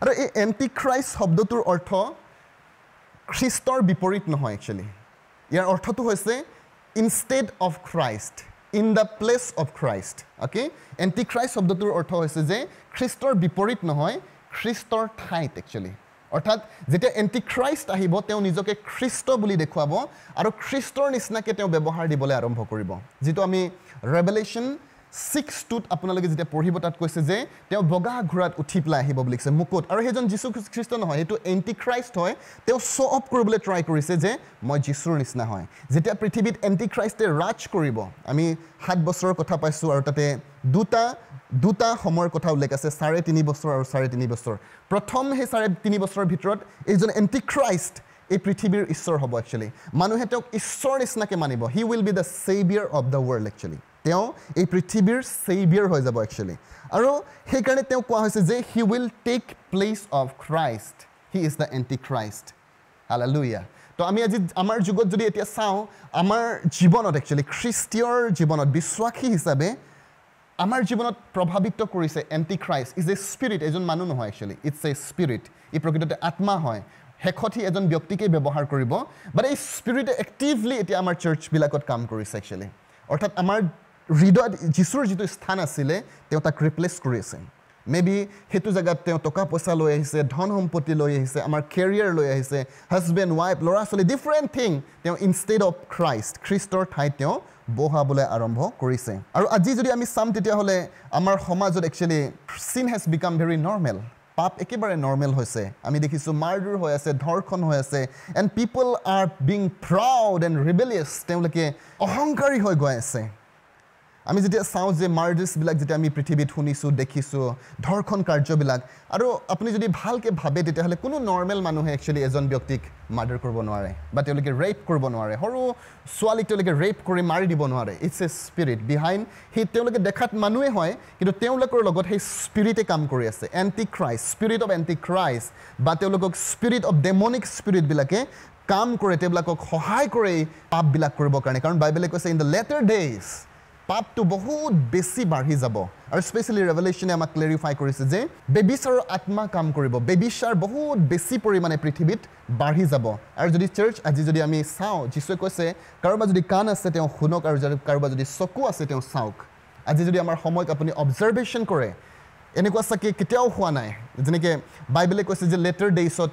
আৰু এই এণ্টিক্ৰাইষ্ট শব্দটোৰ অৰ্থ খ্ৰীষ্টৰ বিপৰীত নহয় একচুৱেলি। ইয়াৰ অৰ্থটো হৈছে instead of Christ, in the place of Christ. Okay, antichrist শব্দটোৰ অৰ্থ হৈছে যে খ্ৰীষ্টৰ বিপৰীত নহয়, খ্ৰীষ্টৰ ঠাইত একচুৱেলি। অৰ্থাৎ যেতিয়া এণ্টিক্ৰাইষ্ট আহিব, তেওঁ নিজকে খ্ৰীষ্ট বুলি দেখুৱাব আৰু খ্ৰীষ্টৰ নিচিনাকৈ তেওঁ ব্যৱহাৰ দিবলৈ আৰম্ভ কৰিব। যিটো আমি ৰেভেলেশ্যন ছিক্স টুত আপোনালোকে যেতিয়া পঢ়িব, তাত কৈছে যে তেওঁ বগা ঘোঁৰাত উঠি পেলাই আহিব বুলি কৈছে, মুকুট। আৰু সেইজন যীশু খ্ৰীষ্ট নহয়, সেইটো এণ্টিক্ৰাইষ্ট হয়। তেওঁ শ্ব' অফ কৰিবলৈ ট্ৰাই কৰিছে যে মই যীশুৰ নিচিনা হয়। যেতিয়া পৃথিৱীত এণ্টিক্ৰাইষ্টে ৰাজ কৰিব, আমি সাত বছৰৰ কথা পাইছোঁ, আৰু তাতে দুটা দুটা সময়ৰ কথা উল্লেখ আছে, চাৰে তিনি বছৰ আৰু চাৰে তিনি বছৰ। প্ৰথম সেই চাৰে তিনি বছৰৰ ভিতৰত এইজন এণ্টিক্ৰাইষ্ট এই পৃথিৱীৰ ঈশ্বৰ হ'ব একচুৱেলি। মানুহে তেওঁক ঈশ্বৰ নিচিনাকৈ মানিব। He will be the saviour of the world actually. তেওঁ এই পৃথিৱীৰ ছেভিয়াৰ হৈ যাব একচুৱেলি। আৰু সেইকাৰণে তেওঁক কোৱা হৈছে যে he will take place of Christ, he is the antichrist. Hallelujah. তো আমি আজি আমাৰ যুগত যদি এতিয়া চাওঁ, আমাৰ জীৱনত একচুৱেলি খ্ৰীষ্টীয়ৰ জীৱনত বিশ্বাসী হিচাপে আমাৰ জীৱনত প্ৰভাৱিত কৰিছে এণ্টিক্ৰাইষ্ট is a spirit. এজন মানুহ নহয় একচুৱেলি, it's a spirit. ই প্ৰকৃততে আত্মা হয়। শেষত সি এজন ব্যক্তিকেই ব্যৱহাৰ কৰিব, বাট এই স্পিৰিটে এক্টিভলি এতিয়া আমাৰ চাৰ্চবিলাকত কাম কৰিছে একচুৱেলি। অৰ্থাৎ আমাৰ হৃদয়ত যীশুৰ যিটো স্থান আছিলে, তেওঁ তাক ৰিপ্লেচ কৰি আছে। মে বি সেইটো জেগাত তেওঁ টকা পইচা লৈ আহিছে, ধন সম্পত্তি লৈ আহিছে, আমাৰ কেৰিয়াৰ লৈ আহিছে, হাজবেণ্ড ৱাইফ, ল'ৰা ছোৱালী, ডিফাৰেণ্ট থিং তেওঁ ইনষ্টেড অফ খ্ৰাইষ্ট, খ্ৰীষ্টৰ ঠাইত তেওঁ বহাবলৈ আৰম্ভ কৰিছে। আৰু আজি যদি আমি চাম, তেতিয়াহ'লে আমাৰ সমাজত actually sin has become very normal. পাপ একেবাৰে নৰ্মেল হৈছে। আমি দেখিছোঁ মাৰদুৰ হৈ আছে, ধৰ্ষণ হৈ আছে, and people are being proud and rebellious. তেওঁলোকে অহংকাৰী হৈ গৈ আছে। আমি যেতিয়া চাওঁ যে মাৰ্ডাৰ্ছবিলাক যেতিয়া আমি পৃথিৱীত শুনিছোঁ, দেখিছোঁ, ধৰ্ষণ কাৰ্যবিলাক, আৰু আপুনি যদি ভালকৈ ভাবে তেতিয়াহ'লে কোনো নৰ্মেল মানুহে একচুৱেলি এজন ব্যক্তিক মাৰ্ডাৰ কৰিব নোৱাৰে, বা তেওঁলোকে ৰেপ কৰিব নোৱাৰে, সৰু ছোৱালীক তেওঁলোকে ৰেপ কৰি মাৰি দিব নোৱাৰে। It's a spirit behind. সেই তেওঁলোকে দেখাত মানুহে হয়, কিন্তু তেওঁলোকৰ লগত সেই স্পিৰিটে কাম কৰি আছে। Anti Christ, spirit of antichrist, বা তেওঁলোকক স্পিৰিট অফ ডেমনিক স্পিৰিটবিলাকে কাম কৰে, তেওঁলোকক সহায় কৰে এই পাপবিলাক কৰিবৰ কাৰণে। কাৰণ বাইবেলে কৈছে ইন the letter days পাপটো বহুত বেছি বাঢ়ি যাব। আৰু স্পেচিয়েলি ৰেভেলেশ্যনে আমাক ক্লেৰিফাই কৰিছে যে ব্যভিচাৰৰ আত্মা কাম কৰিব, ব্যভিচাৰ বহুত বেছি পৰিমাণে পৃথিৱীত বাঢ়ি যাব। আৰু যদি চাৰ্চ আজি যদি আমি চাওঁ, যীশুৱে কৈছে কাৰোবাৰ যদি কাণ আছে তেওঁ শুনক, আৰু যদি কাৰোবাৰ যদি চকু আছে তেওঁ চাওক। আজি যদি আমাৰ সময়ক আপুনি অবজাৰ্ভেশ্যন কৰে, এনেকুৱা চাগে কেতিয়াও হোৱা নাই। যেনেকৈ বাইবেলে কৈছে যে লেটাৰ ডেইজত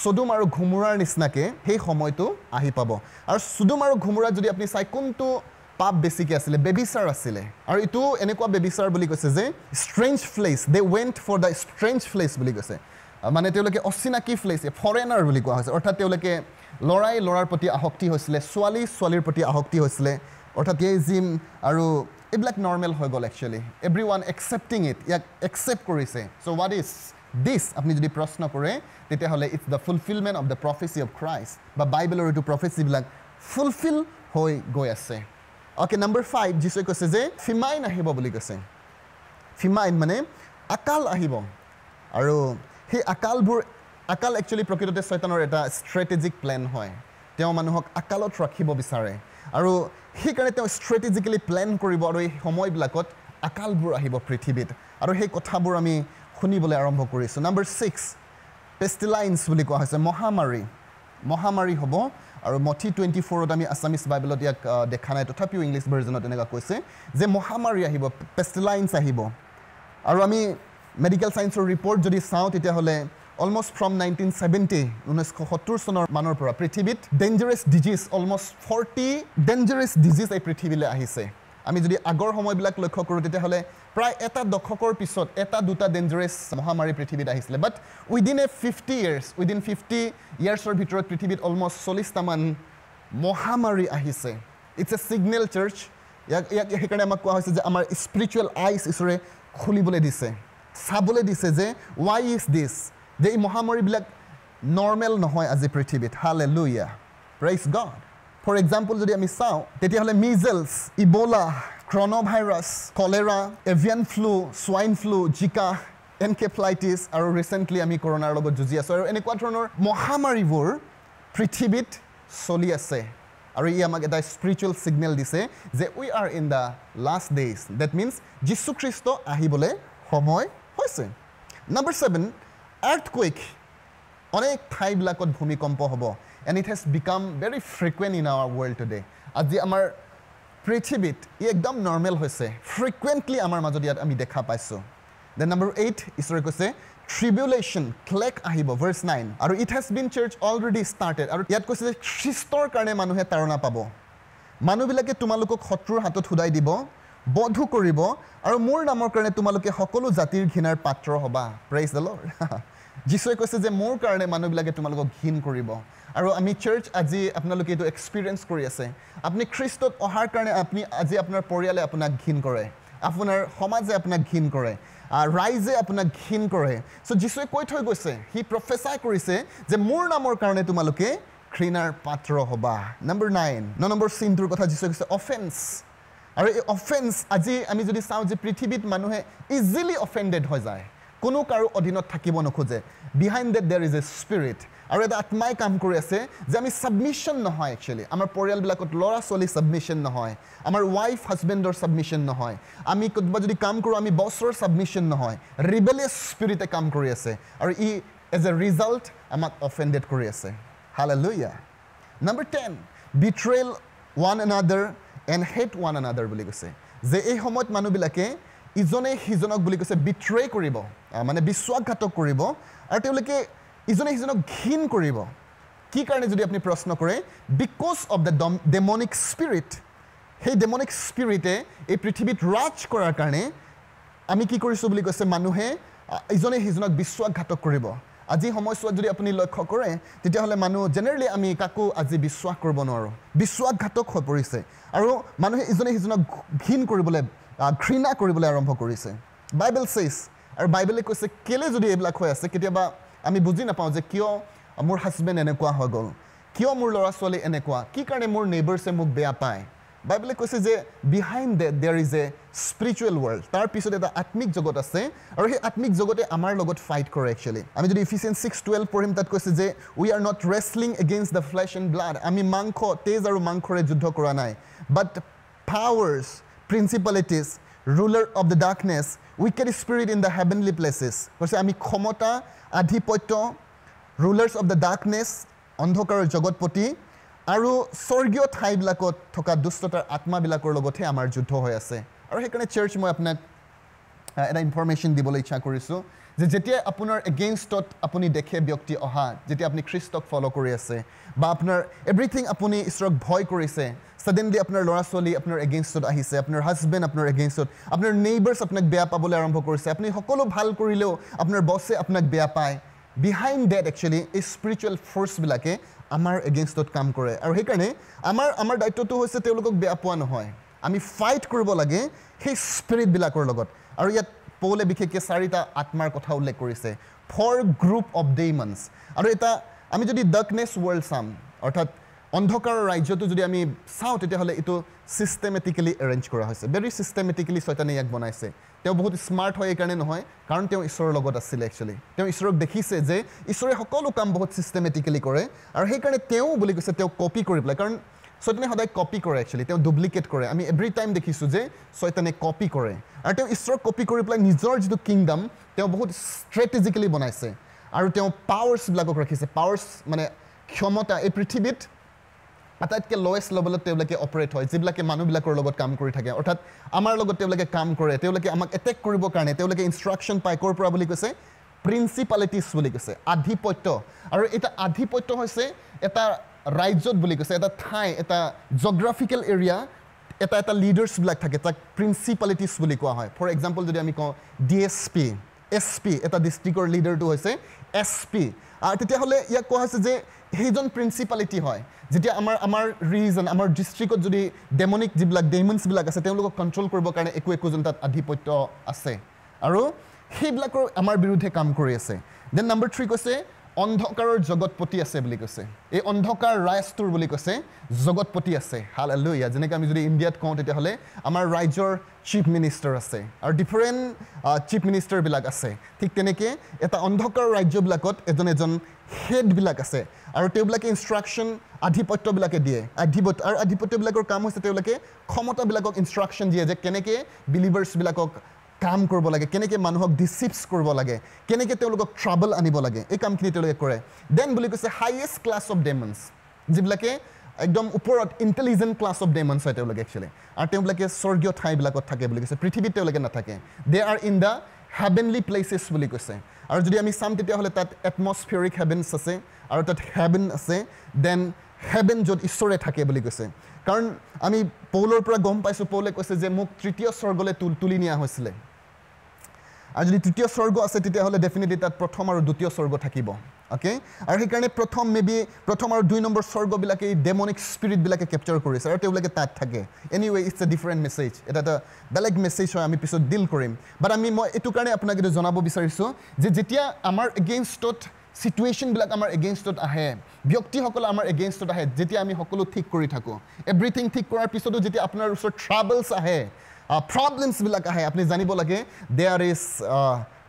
চদুম আৰু ঘুমুৰাৰ নিচিনাকৈ সেই সময়টো আহি পাব। আৰু চদুম আৰু ঘুমুৰাত যদি আপুনি চাই, কোনটো পাপ বেছিকৈ আছিলে? ব্যভিচাৰ আছিলে। আৰু এইটো এনেকুৱা ব্যভিচাৰ বুলি কৈছে যে strange flesh, they went for the strange flesh বুলি কৈছে। মানে তেওঁলোকে অচিনাকি ফ্লেছ, ফৰেনাৰ বুলি কোৱা হৈছে। অৰ্থাৎ তেওঁলোকে ল'ৰাই ল'ৰাৰ প্ৰতি আসক্তি হৈছিলে, ছোৱালী ছোৱালীৰ প্ৰতি আসক্তি হৈছিলে। অৰ্থাৎ গেইজিম আৰু এইবিলাক নৰ্মেল হৈ গ'ল actually. Every one accepting it, ইয়াক একচেপ্ট কৰিছে। So what is This আপুনি যদি প্ৰশ্ন কৰে তেতিয়াহ'লে it's the fulfillment of the prophecy of Christ বা বাইবেলৰ এইটো প্ৰফেচিবিলাক ফুলফিল হৈ গৈ আছে। অ'কে, নম্বৰ ফাইভ, যীশুৱে কৈছে যে ফিমাইন আহিব বুলি কৈছে। ফিমাইন মানে আকাল আহিব, আৰু সেই আকালবোৰ, আকাল একচুৱেলি প্ৰকৃততে ছয়তানৰ এটা ষ্ট্ৰেটেজিক প্লেন হয়। তেওঁ মানুহক আকালত ৰাখিব বিচাৰে আৰু সেইকাৰণে তেওঁ ষ্ট্ৰেটেজিকেলি প্লেন কৰিব, আৰু এই সময়বিলাকত আকালবোৰ আহিব পৃথিৱীত, আৰু সেই কথাবোৰ আমি শুনিবলৈ আৰম্ভ কৰিছোঁ। নম্বৰ ছিক্স, পেষ্টিলাইন্স বুলি কোৱা হৈছে, মহামাৰী। মহামাৰী হ'ব, আৰু মথি টুৱেণ্টি ফ'ৰত আমি আছামিছ বাইবেলত ইয়াক দেখা নাই, তথাপিও ইংলিছ ভাৰ্জনত এনেকুৱা কৈছে যে মহামাৰী আহিব, পেষ্টিলাইন্স আহিব। আৰু আমি মেডিকেল ছায়েন্সৰ ৰিপৰ্ট যদি চাওঁ তেতিয়াহ'লে অলমষ্ট ফ্ৰম নাইনটিন ছেভেণ্টি, ঊনৈছশ সত্তৰ চনৰ মানৰ পৰা পৃথিৱীত dangerous disease, almost forty dangerous disease এই পৃথিৱীলৈ আহিছে। আমি যদি আগৰ সময়বিলাক লক্ষ্য কৰোঁ তেতিয়াহ'লে প্ৰায় এটা দশকৰ পিছত এটা দুটা ডেঞ্জাৰাছ মহামাৰী পৃথিৱীত আহিছিলে। But within a fifty years, within fifty ইয়াৰ্ছৰ ভিতৰত পৃথিৱীত অলমষ্ট চল্লিছটামান মহামাৰী আহিছে। It's a signal search. ইয়াক ইয়াক সেইকাৰণে আমাক কোৱা হৈছে যে আমাৰ স্পিৰিচুৱেল আইজ ঈশ্বৰে খুলিবলৈ দিছে, চাবলৈ দিছে যে ৱাই is দিছ, যে এই মহামাৰীবিলাক নৰ্মেল নহয় আজি পৃথিৱীত। Hallelujah, praise God. For example যদি আমি চাওঁ তেতিয়াহ'লে measles, Ebola, coronavirus, cholera, avian flu, swine flu, Zika, encephalitis, আৰু ৰিচেণ্টলি আমি কৰোণাৰ লগত যুঁজি আছোঁ। আৰু এনেকুৱা ধৰণৰ মহামাৰীবোৰ পৃথিৱীত চলি আছে, আৰু ই আমাক এটা স্পিৰিচুৱেল ছিগনেল দিছে যে we are in the last days. That means যীশুখ্ৰীষ্ট আহিবলৈ সময় হৈছে। Number seven, earthquake. অনেক ঠাইবিলাকত ভূমিকম্প হ'ব, and it has become very frequent in our world today. আজি আমাৰ পৃথিৱীত ই একদম নৰ্মেল হৈছে, ফ্ৰিকুৱেণ্টলি আমাৰ মাজত ইয়াত আমি দেখা পাইছোঁ। Then number eight, ঈশ্বৰে কৈছে ট্ৰিবিউলেশ্যন, ক্লেক আহিব, ভাৰ্চ নাইন। আৰু it has been church already started. আৰু ইয়াত কৈছে যে খ্ৰীষ্টৰ কাৰণে মানুহে তাৰণা পাব, মানুহবিলাকে তোমালোকক শত্ৰুৰ হাতত সোধাই দিব, বধো কৰিব, আৰু মোৰ নামৰ কাৰণে তোমালোকে সকলো জাতিৰ ঘৃণাৰ পাত্ৰ হ'বা। Praise the Lord. যীশুৱে কৈছে যে মোৰ কাৰণে মানুহবিলাকে তোমালোকক ঘৃণ কৰিব। আৰু আমি চাৰ্চ আজি আপোনালোকে এইটো এক্সপিৰিয়েঞ্চ কৰি আছে। আপুনি খ্ৰীষ্টত অহাৰ কাৰণে আপুনি আজি আপোনাৰ পৰিয়ালে আপোনাক ঘৃণ কৰে, আপোনাৰ সমাজে আপোনাক ঘৃণ কৰে, ৰাইজে আপোনাক ঘৃণ কৰে। চ' যীশুৱে কৈ থৈ গৈছে, সি প্ৰফেচাই কৰিছে যে মোৰ নামৰ কাৰণে তোমালোকে ঘৃণাৰ পাত্ৰ হ'বা। নম্বৰ নাইন, ন নম্বৰ চিনটোৰ কথা যীশুৱে কৈছে অফেন্স। আৰু এই অফেন্স আজি আমি যদি চাওঁ যে পৃথিৱীত মানুহে ইজিলি অফেণ্ডেড হৈ যায়, কোনো কাৰো অধীনত থাকিব নোখোজে। Behind that there is a spirit, আৰু এটা আত্মাই কাম কৰি আছে যে আমি ছাবমিশ্যন নহয়। একচুৱেলি আমাৰ পৰিয়ালবিলাকত ল'ৰা ছোৱালী ছাবমিশ্যন নহয়, আমাৰ ৱাইফ হাজবেণ্ডৰ ছাবমিশ্যন নহয়, আমি ক'ৰবাত যদি কাম কৰোঁ আমি বছৰ ছাবমিশ্যন নহয়। ৰিবেলিয়াছ স্পিৰিটে কাম কৰি আছে, আৰু ই এজ এ ৰিজাল্ট আমাক অফেণ্ডেড কৰি আছে। Hallelujah. Number ten, betrayal one another and hate one another বুলি কৈছে যে এই সময়ত মানুহবিলাকে ইজনে সিজনক বুলি কৈছে বিট্ৰে কৰিব, মানে বিশ্বাসঘাতক কৰিব, আৰু তেওঁলোকে ইজনে সিজনক ঘৃণ কৰিব। কি কাৰণে যদি আপুনি প্ৰশ্ন কৰে, because of the demonic spirit. সেই ডেমনিক স্পিৰিটে এই পৃথিৱীত ৰাজ কৰাৰ কাৰণে আমি কি কৰিছোঁ বুলি কৈছে, মানুহে ইজনে সিজনক বিশ্বাসঘাতক কৰিব। আজি সময়ছোৱাত যদি আপুনি লক্ষ্য কৰে তেতিয়াহ'লে মানুহ জেনেৰেলি আমি কাকো আজি বিশ্বাস কৰিব নোৱাৰোঁ, বিশ্বাসঘাতক হৈ পৰিছে, আৰু মানুহে ইজনে সিজনক ঘৃণ কৰিবলৈ, ঘৃণা কৰিবলৈ আৰম্ভ কৰিছে। বাইবেল চেইজ, আৰু বাইবেলে কৈছে কেলৈ যদি এইবিলাক হৈ আছে, কেতিয়াবা আমি বুজি নাপাওঁ যে কিয় মোৰ হাজবেণ্ড এনেকুৱা হৈ গ'ল, কিয় মোৰ ল'ৰা ছোৱালী এনেকুৱা, কি কাৰণে মোৰ নেইবাৰ্ছে মোক বেয়া পায়। বাইবেলে কৈছে যে behind that there is a spiritual world, তাৰ পিছত এটা আত্মিক জগত আছে, আৰু সেই আত্মিক জগতে আমাৰ লগত ফাইট কৰে। একচুৱেলি আমি যদি ইফিচিয়েন্স ছিক্স টুৱেল্ভ পঢ়িম, তাত কৈছে যে we are not wrestling against the flesh and blood, আমি মাংস, তেজ আৰু মাংসৰে যুদ্ধ কৰা নাই, but powers, principalities, ruler of the darkness, wicked spirit in the heavenly places. কৈছে আমি ক্ষমতা, আধিপত্য, ৰুলাৰ্ছ অফ the darkness, অন্ধকাৰৰ জগতপতি, আৰু স্বৰ্গীয় ঠাইবিলাকত থকা দুষ্টতাৰ আত্মাবিলাকৰ লগতহে আমাৰ যুদ্ধ হৈ আছে। আৰু সেইকাৰণে চাৰ্চ মই আপোনাক এটা ইনফৰ্মেশ্যন দিবলৈ ইচ্ছা কৰিছোঁ যে যেতিয়া আপোনাৰ এগেইনষ্টত আপুনি দেখে ব্যক্তি অহা, যেতিয়া আপুনি খ্ৰীষ্টক ফ'ল' কৰি আছে বা আপোনাৰ এভৰিথিং আপুনি ঈশ্বৰক ভয় কৰিছে, ছাডেনলি আপোনাৰ ল'ৰা ছোৱালী আপোনাৰ এগেইনষ্টত আহিছে, আপোনাৰ হাজবেণ্ড আপোনাৰ এগেইনষ্টত, আপোনাৰ নেইবাৰ্ছ আপোনাক বেয়া পাবলৈ আৰম্ভ কৰিছে, আপুনি সকলো ভাল কৰিলেও আপোনাৰ বছে আপোনাক বেয়া পায়। বিহাইণ্ড ডেট একচুৱেলি এই স্পিৰিচুৱেল ফ'ৰ্চবিলাকে আমাৰ এগেইনষ্টত কাম কৰে। আৰু সেইকাৰণে আমাৰ আমাৰ দায়িত্বটো হৈছে তেওঁলোকক বেয়া পোৱা নহয়, আমি ফাইট কৰিব লাগে সেই স্পিৰিটবিলাকৰ লগত। আৰু ইয়াত পৌলে বিশেষকৈ চাৰিটা আত্মাৰ কথা উল্লেখ কৰিছে। Four group of demons. আৰু এটা আমি যদি ডাৰ্কনেছ ৱৰ্ল্ড চাম, অৰ্থাৎ অন্ধকাৰৰ ৰাজ্যটো যদি আমি চাওঁ, তেতিয়াহ'লে এইটো ছিষ্টেমেটিকেলি এৰেঞ্জ কৰা হৈছে। ভেৰি ছিষ্টেমেটিকেলি ছয়তানে ইয়াক বনাইছে। তেওঁ বহুত স্মাৰ্ট হয় এইকাৰণে নহয়, কাৰণ তেওঁ ঈশ্বৰৰ লগত আছিলে একচুৱেলি। তেওঁ ঈশ্বৰক দেখিছে যে ঈশ্বৰে সকলো কাম বহুত ছিষ্টেমেটিকেলি কৰে, আৰু সেইকাৰণে তেওঁ বুলি কৈছে তেওঁ কপি কৰি পেলাই, কাৰণ ছয়তানে সদায় কপি কৰে একচুৱেলি, তেওঁ ডুপ্লিকেট কৰে। আমি এভৰি টাইম দেখিছোঁ যে ছয়তানে কপি কৰে, আৰু তেওঁ ঈশ্বৰক কপি কৰি পেলাই নিজৰ যিটো কিংডম তেওঁ বহুত ষ্ট্ৰেটেজিকেলি বনাইছে, আৰু তেওঁ পাৱাৰ্ছবিলাকক ৰাখিছে। পাৱাৰ্ছ মানে ক্ষমতা। এই পৃথিৱীত আটাইতকৈ লৱেষ্ট লেভেলত তেওঁলোকে অপাৰেট হয়, যিবিলাকে মানুহবিলাকৰ লগত কাম কৰি থাকে, অৰ্থাৎ আমাৰ লগত তেওঁলোকে কাম কৰে। তেওঁলোকে আমাক এটেক কৰিবৰ কাৰণে তেওঁলোকে ইনষ্ট্ৰাকশ্যন পায় ক'ৰ পৰা বুলি কৈছে? প্ৰিন্সিপালিটিছ বুলি কৈছে, আধিপত্য। আৰু এটা আধিপত্য হৈছে এটা ৰাজ্যত বুলি কৈছে, এটা ঠাই, এটা জগ্ৰাফিকেল এৰিয়া, এটা এটা লিডাৰ্ছবিলাক থাকে, তাক প্ৰিন্সিপালিটিছ বুলি কোৱা হয়। ফৰ এক্সাম্পল যদি আমি কওঁ D S P, S P, এটা ডিষ্ট্ৰিক্টৰ লিডাৰটো হৈছে এছ পি। আৰু তেতিয়াহ'লে ইয়াক কোৱা হৈছে যে সেইজন প্ৰিন্সিপালিটি হয়। যেতিয়া আমাৰ আমাৰ ৰিজন, আমাৰ ডিষ্ট্ৰিক্টত যদি ডেমনিক যিবিলাক ডেমনছবিলাক আছে, তেওঁলোকক কণ্ট্ৰল কৰিবৰ কাৰণে একো একোজন তাত আধিপত্য আছে, আৰু সেইবিলাকৰ আমাৰ বিৰুদ্ধে কাম কৰি আছে। Then number three কৈছে অন্ধকাৰৰ জগতপতি আছে বুলি কৈছে। এই অন্ধকাৰ ৰাজটোৰ বুলি কৈছে জগতপতি আছে। হালেলুয়া। যেনেকৈ আমি যদি ইণ্ডিয়াত কওঁ তেতিয়াহ'লে আমাৰ ৰাজ্যৰ চিফ মিনিষ্টাৰ আছে, আৰু ডিফাৰেণ্ট চিফ মিনিষ্টাৰবিলাক আছে। ঠিক তেনেকৈ এটা অন্ধকাৰ ৰাজ্যবিলাকত এজন এজন হেডবিলাক আছে, আৰু তেওঁবিলাকে ইনষ্ট্ৰাকশ্যন আধিপত্যবিলাকে দিয়ে। আধিপত্য আৰু আধিপত্যবিলাকৰ কাম হৈছে তেওঁলোকে ক্ষমতাবিলাকক ইনষ্ট্ৰাকশ্যন দিয়ে যে কেনেকৈ বিলিভাৰ্ছবিলাকক কাম কৰিব লাগে, কেনেকৈ মানুহক ডিচিপছ কৰিব লাগে, কেনেকৈ তেওঁলোকক ট্ৰাবল আনিব লাগে, এই কামখিনি তেওঁলোকে কৰে। Then বুলি কৈছে হাইয়েষ্ট ক্লাছ অফ ডেমনছ, যিবিলাকে একদম ওপৰত ইণ্টেলিজেণ্ট ক্লাছ অফ ডেমনছ হয় তেওঁলোকে একচুৱেলি, আৰু তেওঁলোকে স্বৰ্গীয় ঠাইবিলাকত থাকে বুলি কৈছে, পৃথিৱীত তেওঁলোকে নাথাকে। They are in the heavenly places বুলি কৈছে। আৰু যদি আমি চাম তেতিয়াহ'লে তাত এটমছফিয়াৰিক হেভেনছ আছে, আৰু তাত হেভেন আছে, then heaven য'ত ঈশ্বৰে থাকে বুলি কৈছে। কাৰণ আমি পৌলৰ পৰা গম পাইছোঁ, পৌলে কৈছে যে মোক তৃতীয় স্বৰ্গলৈ তুলি নিয়া হৈছিলে। আৰু যদি তৃতীয় স্বৰ্গ আছে তেতিয়াহ'লে ডেফিনেটলি তাত প্ৰথম আৰু দ্বিতীয় স্বৰ্গ থাকিব। অ'কে, আৰু সেইকাৰণে প্ৰথম মে বি প্ৰথম আৰু দুই নম্বৰ স্বৰ্গবিলাকে এই ডেমনিক স্পিৰিটবিলাকে কেপচাৰ কৰিছে, আৰু তেওঁলোকে তাত থাকে। Anyway it's a different message, এটা এটা বেলেগ মেছেজ হয়, আমি পিছত ডিল কৰিম। বাট আমি মই এইটো কাৰণে আপোনাক এইটো জনাব বিচাৰিছোঁ যে যেতিয়া আমাৰ এগেইনষ্টত চিটুৱেশ্যনবিলাক আমাৰ এগেইনষ্টত আহে, ব্যক্তিসকল আমাৰ এগেইনষ্টত আহে, যেতিয়া আমি সকলো ঠিক কৰি থাকোঁ, এভৰিথিং ঠিক কৰাৰ পিছতো যেতিয়া আপোনাৰ ওচৰত ট্ৰাবলছ আহে, প্ৰব্লেমছবিলাক আহে, আপুনি জানিব লাগে there is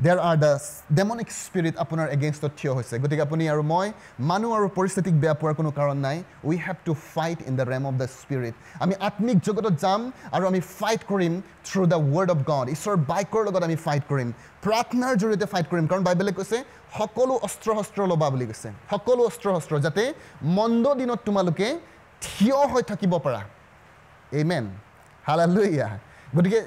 there are the demonic spirit আপোনাৰ এগেইনষ্টত থিয় হৈছে। গতিকে আপুনি আৰু মই মানুহ আৰু পৰিস্থিতিক বেয়া পোৱাৰ কোনো কাৰণ নাই। We have to fight in the realm of the spirit. আমি আত্মিক জগতত যাম আৰু আমি ফাইট কৰিম through the word of God. ঈশ্বৰৰ বাক্যৰ লগত আমি ফাইট কৰিম, প্ৰাৰ্থনাৰ জৰিয়তে ফাইট কৰিম। কাৰণ বাইবেলে কৈছে সকলো অস্ত্ৰ শস্ত্ৰ ল'বা বুলি কৈছে, সকলো অস্ত্ৰ শস্ত্ৰ, যাতে মন্দ দিনত তোমালোকে থিয় হৈ থাকিব পাৰা। আমেন, হালেলুয়া। গতিকে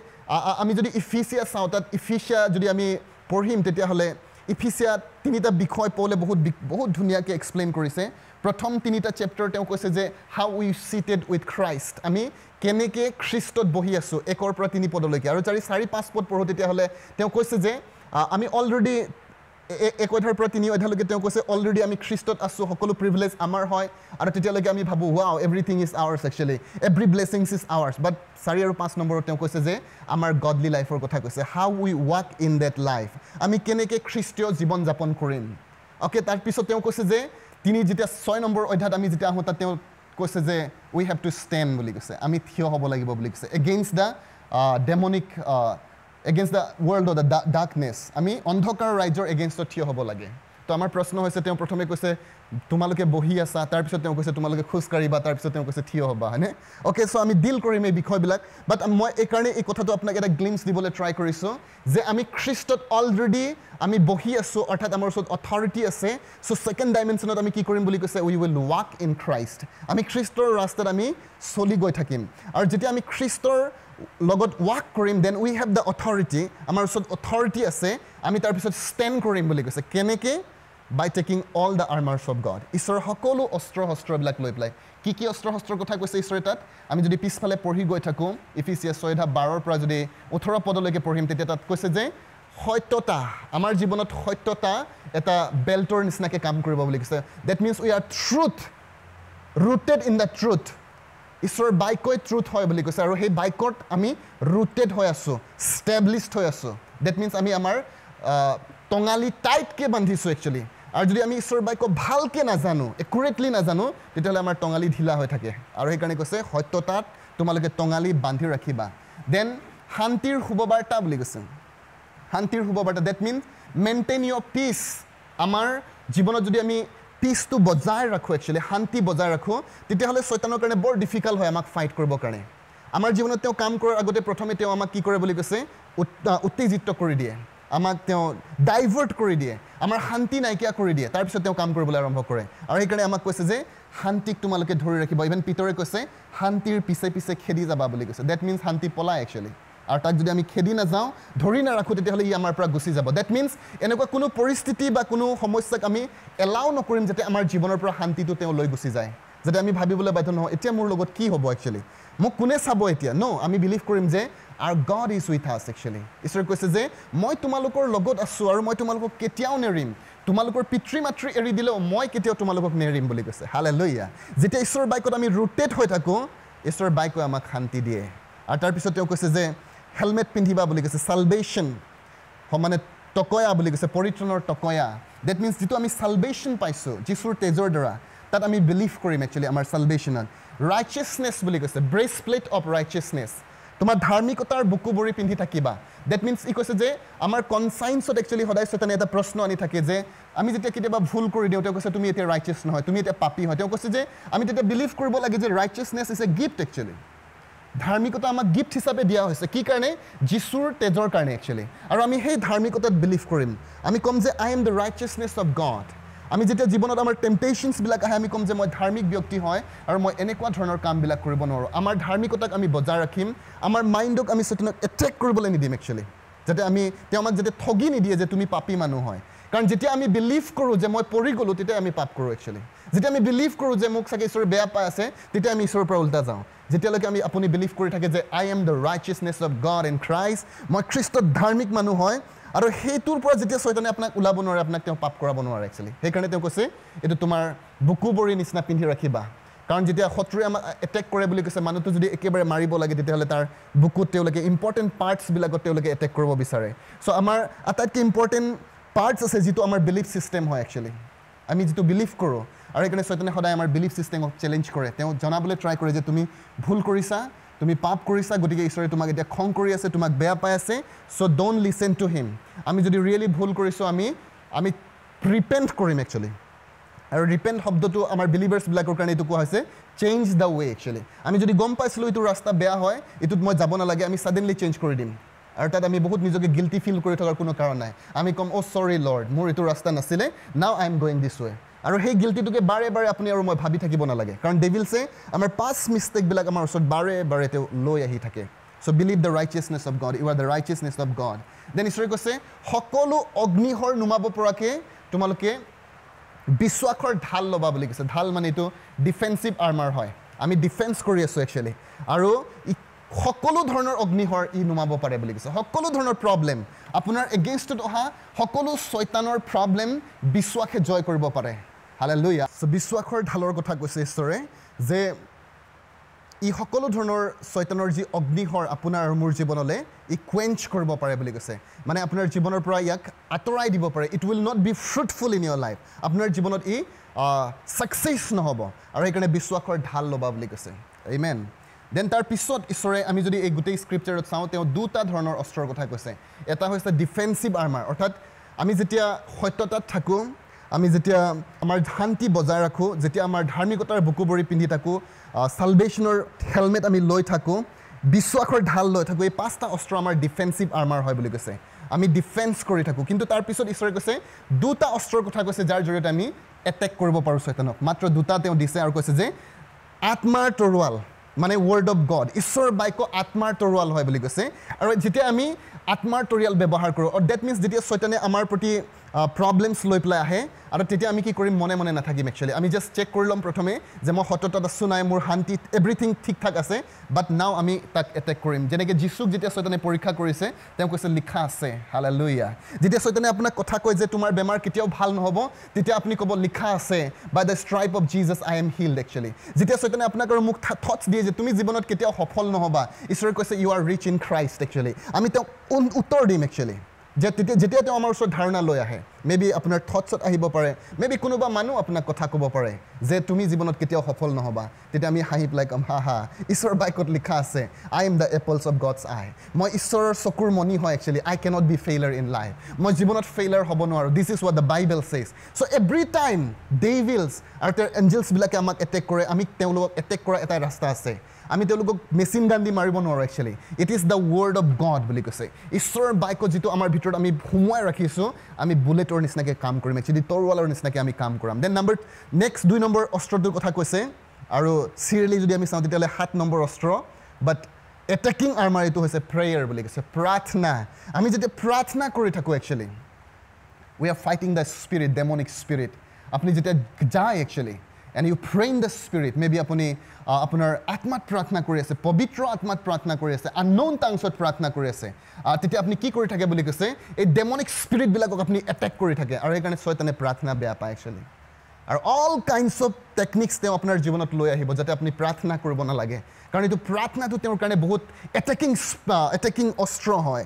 আমি যদি ইফিচিয়া চাওঁ, তাত ইফিচিয়া যদি আমি পঢ়িম তেতিয়াহ'লে ইফিচিয়াত তিনিটা বিষয় পৌলে বহুত বহুত ধুনীয়াকৈ এক্সপ্লেইন কৰিছে। প্ৰথম তিনিটা চেপ্টাৰ তেওঁ কৈছে যে how we seated with Christ, আমি কেনেকৈ খ্ৰীষ্টত বহি আছোঁ, একৰ পৰা তিনি পদলৈকে। আৰু চাৰি চাৰি পাঁচ পদ পঢ়োঁ তেতিয়াহ'লে তেওঁ কৈছে যে আমি অলৰেডি এক অধ্যায়ৰ পৰা তিনি অধ্যায়লৈকে তেওঁ কৈছে অলৰেডি আমি খ্ৰীষ্টত আছোঁ, সকলো প্ৰিভিলেজ আমাৰ হয়। আৰু তেতিয়ালৈকে আমি ভাবোঁ wow, everything is ours, actually every blessings is ours. But চাৰি আৰু পাঁচ নম্বৰত তেওঁ কৈছে যে আমাৰ গডলি লাইফৰ কথা কৈছে, how we walk in that life, আমি কেনেকৈ খ্ৰীষ্টীয় জীৱন যাপন কৰিম। অ'কে, তাৰপিছত তেওঁ কৈছে যে তিনি যেতিয়া ছয় নম্বৰ অধ্যায়ত আমি যেতিয়া আহোঁ, তাত তেওঁ কৈছে যে উই have to stand বুলি কৈছে, আমি থিয় হ'ব লাগিব বুলি কৈছে, against the demonic, against the world of the darkness, আমি অন্ধকাৰ ৰাজ্যৰ এগেইনষ্টত থিয় হ'ব লাগে। তো আমাৰ প্ৰশ্ন হৈছে, তেওঁ প্ৰথমে কৈছে তোমালোকে বহি আছা, তাৰপিছত তেওঁ কৈছে তোমালোকে খোজকাঢ়িবা, তাৰপিছত তেওঁ কৈছে থিয় হ'বা, হয়নে? অ'কে, চ' আমি ডিল কৰিম এই বিষয়বিলাক। বাট মই এইকাৰণে এই কথাটো আপোনাক এটা গ্লিমছ দিবলৈ ট্ৰাই কৰিছোঁ যে আমি খ্ৰীষ্টত অলৰেডি আমি বহি আছোঁ, অৰ্থাৎ আমাৰ ওচৰত অথৰিটি আছে। চ' ছেকেণ্ড ডাইমেনশ্যনত আমি কি কৰিম বুলি কৈছে, we will walk in Christ, আমি খ্ৰীষ্টৰ ৰাস্তাত আমি চলি গৈ থাকিম। আৰু যেতিয়া আমি খ্ৰীষ্টৰ লগত ৱাক কৰিম, then we have the authority, আমাৰ ওচৰত অথৰিটি আছে, আমি তাৰপিছত ষ্টেণ্ড কৰিম বুলি কৈছে। কেনেকৈ? By taking all the armours of God, ঈশ্বৰৰ সকলো অস্ত্ৰ শস্ত্ৰবিলাক লৈ পেলাই। কি কি অস্ত্ৰ শস্ত্ৰৰ কথা কৈছে ঈশ্বৰে তাত? আমি যদি পিছফালে পঢ়ি গৈ থাকোঁ, ইফিচিয়া ছয় বাৰৰ পৰা যদি ওঠৰ পদলৈকে পঢ়িম, তেতিয়া তাত কৈছে যে সত্যতা, আমাৰ জীৱনত সত্যতা এটা বেল্টৰ নিচিনাকৈ কাম কৰিব বুলি কৈছে। That means we are truth, rooted in the truth. ঈশ্বৰৰ বাক্যই ট্ৰুথ হয় বুলি কৈছে, আৰু সেই বাক্যত আমি ৰুটেড হৈ আছোঁ, ষ্টেব্লিছড হৈ আছোঁ। That means আমি আমাৰ টঙালি টাইটকৈ বান্ধিছোঁ একচুৱেলি। আৰু যদি আমি ঈশ্বৰৰ বাক্য ভালকৈ নাজানো, একুৰেটলি নাজানো, তেতিয়াহ'লে আমাৰ টঙালি ঢিলা হৈ থাকে। আৰু সেইকাৰণে কৈছে সত্যতাত তোমালোকে টঙালি বান্ধি ৰাখিবা। Then শান্তিৰ শুভবাৰ্তা বুলি কৈছে, শান্তিৰ শুভবাৰ্তা, that means maintain your peace. আমাৰ জীৱনত যদি আমি পিচটো বজাই ৰাখোঁ, একচুৱেলি শান্তি বজাই ৰাখোঁ, তেতিয়াহ'লে চয়তানৰ কাৰণে বৰ ডিফিকাল্ট হয় আমাক ফাইট কৰিবৰ কাৰণে। আমাৰ জীৱনত তেওঁ কাম কৰাৰ আগতে প্ৰথমে তেওঁ আমাক কি কৰে বুলি কৈছে, উত্তেজিত কৰি দিয়ে, আমাক তেওঁ ডাইভাৰ্ট কৰি দিয়ে, আমাৰ শান্তি নাইকিয়া কৰি দিয়ে, তাৰপিছত তেওঁ কাম কৰিবলৈ আৰম্ভ কৰে। আৰু সেইকাৰণে আমাক কৈছে যে শান্তিক তোমালোকে ধৰি ৰাখিবা। ইভেন পিতৰে কৈছে শান্তিৰ পিছে পিছে খেদি যাবা বুলি কৈছে। That means শান্তি পলাই একচুৱেলি, আৰু তাক যদি আমি খেদি নাযাওঁ, ধৰি নাৰাখোঁ, তেতিয়াহ'লে ই আমাৰ পৰা গুচি যাব। That means এনেকুৱা কোনো পৰিস্থিতি বা কোনো সমস্যাক আমি এলাউ নকৰিম যাতে আমাৰ জীৱনৰ পৰা শান্তিটো তেওঁ লৈ গুচি যায়, যাতে আমি ভাবিবলৈ বাধ্য নহওঁ এতিয়া মোৰ লগত কি হ'ব একচুৱেলি, মোক কোনে চাব এতিয়া। ন, আমি বিলিভ কৰিম যে our God is with us actually. ঈশ্বৰে কৈছে যে মই তোমালোকৰ লগত আছোঁ আৰু মই তোমালোকক কেতিয়াও নেৰিম, তোমালোকৰ পিতৃ মাতৃ এৰি দিলেও মই কেতিয়াও তোমালোকক নেৰিম বুলি কৈছে। হালেলুয়া। যেতিয়া ঈশ্বৰৰ বাক্যত আমি ৰুটেড হৈ থাকোঁ, ঈশ্বৰৰ বাক্যই আমাক শান্তি দিয়ে। আৰু তাৰপিছত তেওঁ কৈছে যে হেলমেট পিন্ধিবা বুলি কৈছে, চালভেশ্যন মানে টকয়া বুলি কৈছে, পৰিত্ৰাণৰ টকয়া। That means যিটো আমি চালভেশ্যন পাইছোঁ যীশুৰ তেজৰ দ্বাৰা, তাত আমি বিলিভ কৰিম একচুৱেলি আমাৰ চালভেশ্যনত। ৰাইচিয়াছনেছ বুলি কৈছে, ব্ৰেষ্টপ্লেট অফ ৰাইচিয়াছনেছ, তোমাৰ ধাৰ্মিকতাৰ বুকু বৰি পিন্ধি থাকিবা। That means ই কৈছে যে আমাৰ কনচাইন্সত একচুৱেলি সদায় চয়তানে এটা প্ৰশ্ন আনি থাকে যে আমি যেতিয়া কেতিয়াবা ভুল কৰি দিওঁ, তেওঁ কৈছে তুমি এতিয়া ৰাইচিয়াছ নহয়, তুমি এতিয়া পাপী হয়। তেওঁ কৈছে যে আমি তেতিয়া বিলিভ কৰিব লাগে যে righteousness is a gift actually, ধাৰ্মিকতা আমাক গিফ্ট হিচাপে দিয়া হৈছে। কি কাৰণে? যীশুৰ তেজৰ কাৰণে একচুৱেলি। আৰু আমি সেই ধাৰ্মিকতাত বিলিভ কৰিম। আমি ক'ম যে I am the righteousness of God. আমি যেতিয়া জীৱনত আমাৰ টেম্পটেশ্যনছবিলাক আহে, আমি ক'ম যে মই ধাৰ্মিক ব্যক্তি হয় আৰু মই এনেকুৱা ধৰণৰ কামবিলাক কৰিব নোৱাৰোঁ। আমাৰ ধাৰ্মিকতাক আমি বজাই ৰাখিম, আমাৰ মাইণ্ডক আমি চয়তানক এটেক কৰিবলৈ নিদিম একচুৱেলি, যাতে আমি তেওঁ আমাক যাতে ঠগি নিদিয়ে যে তুমি পাপী মানুহ হয়। কাৰণ যেতিয়া আমি বিলিভ কৰোঁ যে মই পৰি গ'লোঁ, তেতিয়া আমি পাপ কৰোঁ একচুৱেলি। যেতিয়া আমি বিলিভ কৰোঁ যে মোক চাগে ঈশ্বৰে বেয়া পাই আছে, তেতিয়া আমি ঈশ্বৰৰ পৰা উল্টা যাওঁ। যেতিয়ালৈকে আমি আপুনি বিলিভ কৰি থাকে যে I am the righteousness of God in Christ, মই খ্ৰীষ্টত ধাৰ্মিক মানুহ হয়, আৰু সেইটোৰ পৰা যেতিয়া চয়তানে আপোনাক ওলাব নোৱাৰে, আপোনাক তেওঁ পাপ কৰাব নোৱাৰে একচুৱেলি। সেইকাৰণে তেওঁ কৈছে এইটো তোমাৰ বুকু বৰি নিচিনা পিন্ধি ৰাখিবা। কাৰণ যেতিয়া শত্ৰুৱে আমাক এটেক কৰে বুলি কৈছে, মানুহটো যদি একেবাৰে মাৰিব লাগে, তেতিয়াহ'লে তাৰ বুকুত তেওঁলোকে ইম্পৰ্টেণ্ট পাৰ্টছবিলাকত তেওঁলোকে এটেক কৰিব বিচাৰে। চ' আমাৰ আটাইতকৈ ইম্পৰ্টেণ্ট পাৰ্টছ আছে যিটো আমাৰ বিলিফ ছিষ্টেম হয় একচুৱেলি, আমি যিটো বিলিভ কৰোঁ। আৰু সেইকাৰণে চয়তানে সদায় আমাৰ বিলিফ ছিষ্টেমক চেলেঞ্জ কৰে। তেওঁ জনাবলৈ ট্ৰাই কৰে যে তুমি ভুল কৰিছা, তুমি পাপ কৰিছা, গতিকে ঈশ্বৰে তোমাক এতিয়া খং কৰি আছে, তোমাক বেয়া পাই আছে, so don't listen to him. আমি যদি ৰিয়েলি ভুল কৰিছোঁ, আমি আমি ৰিপেণ্ট কৰিম একচুৱেলি। আৰু ৰিপেণ্ট শব্দটো আমাৰ বিলিভাৰ্ছবিলাকৰ কাৰণে এইটো কোৱা হৈছে চেঞ্জ the way actually. আমি যদি গম পাইছিলোঁ এইটো ৰাস্তা বেয়া হয়, এইটোত মই যাব নালাগে, আমি ছাডেনলি চেঞ্জ কৰি দিম। আৰু তাত আমি বহুত নিজকে গিল্টি ফিল কৰি থকাৰ কোনো কাৰণ নাই। আমি ক'ম অ' চৰি লৰ্ড, মোৰ এইটো ৰাস্তা নাছিলে, now I am going this way. আৰু সেই গিল্টিটোকে বাৰে বাৰে আপুনি আৰু মই ভাবি থাকিব নালাগে, কাৰণ ডেভিলছে আমাৰ পাছ মিষ্টেকবিলাক আমাৰ ওচৰত বাৰে বাৰে তেওঁ লৈ আহি থাকে। So believe the righteousness of God, you are the righteousness of God. Then ঈশ্বৰে কৈছে সকলো অগ্নিহৰ নুমাব পৰাকৈ তোমালোকে বিশ্বাসৰ ঢাল ল'বা বুলি কৈছে। ঢাল মানে এইটো ডিফেন্সিভ আৰ্মাৰ হয়, আমি ডিফেন্স কৰি আছোঁ একচুৱেলি। আৰু সকলো ধৰণৰ অগ্নিহৰ ই নুমাব পাৰে বুলি কৈছে। সকলো ধৰণৰ প্ৰব্লেম, আপোনাৰ এগেইনষ্টত অহা সকলো চয়তানৰ প্ৰব্লেম বিশ্বাসে জয় কৰিব পাৰে। হালেলুয়া। চ' বিশ্বাসৰ ঢালৰ কথা কৈছে ঈশ্বৰে যে ই সকলো ধৰণৰ চয়তানৰ যি অগ্নিহৰ আপোনাৰ আৰু মোৰ জীৱনলৈ ই কুৱেঞ্চ কৰিব পাৰে বুলি কৈছে। মানে আপোনাৰ জীৱনৰ পৰা ইয়াক আঁতৰাই দিব পাৰে। It will not be fruitful in your life. আপোনাৰ জীৱনত ই ছাকচেছ নহ'ব। আৰু সেইকাৰণে বিশ্বাসৰ ঢাল ল'বা বুলি কৈছে। আমেন। Then তাৰ পিছত ঈশ্বৰে আমি যদি এই গোটেই স্ক্ৰিপচাৰত চাওঁ, তেওঁ দুটা ধৰণৰ অস্ত্ৰৰ কথা কৈছে। এটা হৈছে ডিফেন্সিভ আৰ্মাৰ, অৰ্থাৎ আমি যেতিয়া সত্যতাত থাকোঁ, আমি যেতিয়া আমাৰ শান্তি বজাই ৰাখোঁ, যেতিয়া আমাৰ ধাৰ্মিকতাৰ বুকু বৰি পিন্ধি থাকোঁ, চালভেশ্যনৰ হেলমেট আমি লৈ থাকোঁ, বিশ্বাসৰ ঢাল লৈ থাকোঁ, এই পাঁচটা অস্ত্ৰ আমাৰ ডিফেন্সিভ আৰ্মাৰ হয় বুলি কৈছে। আমি ডিফেন্স কৰি থাকোঁ। কিন্তু তাৰপিছত ঈশ্বৰে কৈছে দুটা অস্ত্ৰৰ কথা কৈছে যাৰ জৰিয়তে আমি এটেক কৰিব পাৰোঁ চয়তানক। মাত্ৰ দুটা তেওঁ দিছে আৰু কৈছে যে আত্মাৰ তৰোৱাল, মানে ৱৰ্ড অফ গড, ঈশ্বৰৰ বাক্য আত্মাৰ তৰোৱাল হয় বুলি কৈছে। আৰু যেতিয়া আমি আত্মাৰ তৰিয়াল ব্যৱহাৰ কৰোঁ, that means যেতিয়া চয়তানে আমাৰ প্ৰতি প্ৰব্লেমছ লৈ পেলাই আহে, আৰু তেতিয়া আমি কি কৰিম, মনে মনে নাথাকিম একচুৱেলি। আমি জাষ্ট চেক কৰি ল'ম প্ৰথমে যে মই সত্যতাত আছোঁ নাই, মোৰ শান্তিত এভৰিথিং ঠিক ঠাক আছে, বাট নাও আমি তাক এটেক কৰিম। যেনেকৈ যীশুক যেতিয়া চয়তানে পৰীক্ষা কৰিছে, তেওঁ কৈছে লিখা আছে। হালেলুয়া। যেতিয়া চয়তানে আপোনাক কথা কয় যে তোমাৰ বেমাৰ কেতিয়াও ভাল নহ'ব, তেতিয়া আপুনি ক'ব লিখা আছে, by the stripe of Jesus I am healed actually. যেতিয়া চয়তানে আপোনাক আৰু মোক থটছ দিয়ে যে তুমি জীৱনত কেতিয়াও সফল নহ'বা, ঈশ্বৰে কৈছে you are rich in Christ actually. আমি তেওঁক উত্তৰ দিম একচুৱেলি। যে তেতিয়া যেতিয়া তেওঁ আমাৰ ওচৰত ধাৰণা লৈ আহে, মে বি আপোনাৰ থটছত আহিব পাৰে, মে বি কোনোবা মানুহ আপোনাক কথা ক'ব পাৰে যে তুমি জীৱনত কেতিয়াও সফল নহ'বা। তেতিয়া আমি হাঁহি পেলাই ক'ম, হা হা, ঈশ্বৰৰ বাক্যত লিখা আছে, I am the apples of God's eye. মই ঈশ্বৰৰ চকুৰ মণি হয় actually. I cannot be failure in life. মই জীৱনত ফেইলাৰ হ'ব নোৱাৰোঁ। This is what the Bible says. So every time devils আৰু তেওঁৰ এঞ্জেলছবিলাকে আমাক এটেক কৰে, আমি তেওঁলোকক এটেক কৰা এটাই ৰাস্তা আছে। আমি তেওঁলোকক মেচিন গান দি মাৰিব নোৱাৰোঁ actually. It is the word of God বুলি কৈছে। ঈশ্বৰৰ বাক্য যিটো আমাৰ ভিতৰত আমি সোমোৱাই ৰাখিছোঁ, আমি বুলেটৰ নিচিনাকৈ কাম কৰিম একচুৱেলি, তৰোৱালৰ নিচিনাকৈ আমি কাম কৰাম। Then number next দুই নম্বৰ অস্ত্ৰটোৰ কথা কৈছে, আৰু চিৰিয়েলি যদি আমি চাওঁ তেতিয়াহ'লে সাত নম্বৰ অস্ত্ৰ, বাট এটেকিং আৰ্মাৰ এইটো হৈছে প্ৰেয়াৰ বুলি কৈছে, প্ৰাৰ্থনা। আমি যেতিয়া প্ৰাৰ্থনা কৰি থাকোঁ actually, we are fighting the spirit, demonic spirit. আপুনি যেতিয়া যায় actually and you pray in the spirit, maybe আপুনি আপোনাৰ আত্মাত প্ৰাৰ্থনা কৰি আছে, পবিত্ৰ আত্মাত প্ৰাৰ্থনা কৰি আছে, আননোন টাংছত প্ৰাৰ্থনা কৰি আছে, তেতিয়া আপুনি কি কৰি থাকে বুলি কৈছে, এই ডেমনিক স্পিৰিটবিলাকক আপুনি এটেক কৰি থাকে। আৰু সেইকাৰণে ছয়তানে প্ৰাৰ্থনা বেয়া পায় একচুৱেলি। আৰু অল কাইণ্ডছ অফ টেকনিক্স তেওঁ আপোনাৰ জীৱনত লৈ আহিব যাতে আপুনি প্ৰাৰ্থনা কৰিব নালাগে, কাৰণ এইটো প্ৰাৰ্থনাটো তেওঁৰ কাৰণে বহুত এটেকিং এটেকিং অস্ত্ৰ হয়।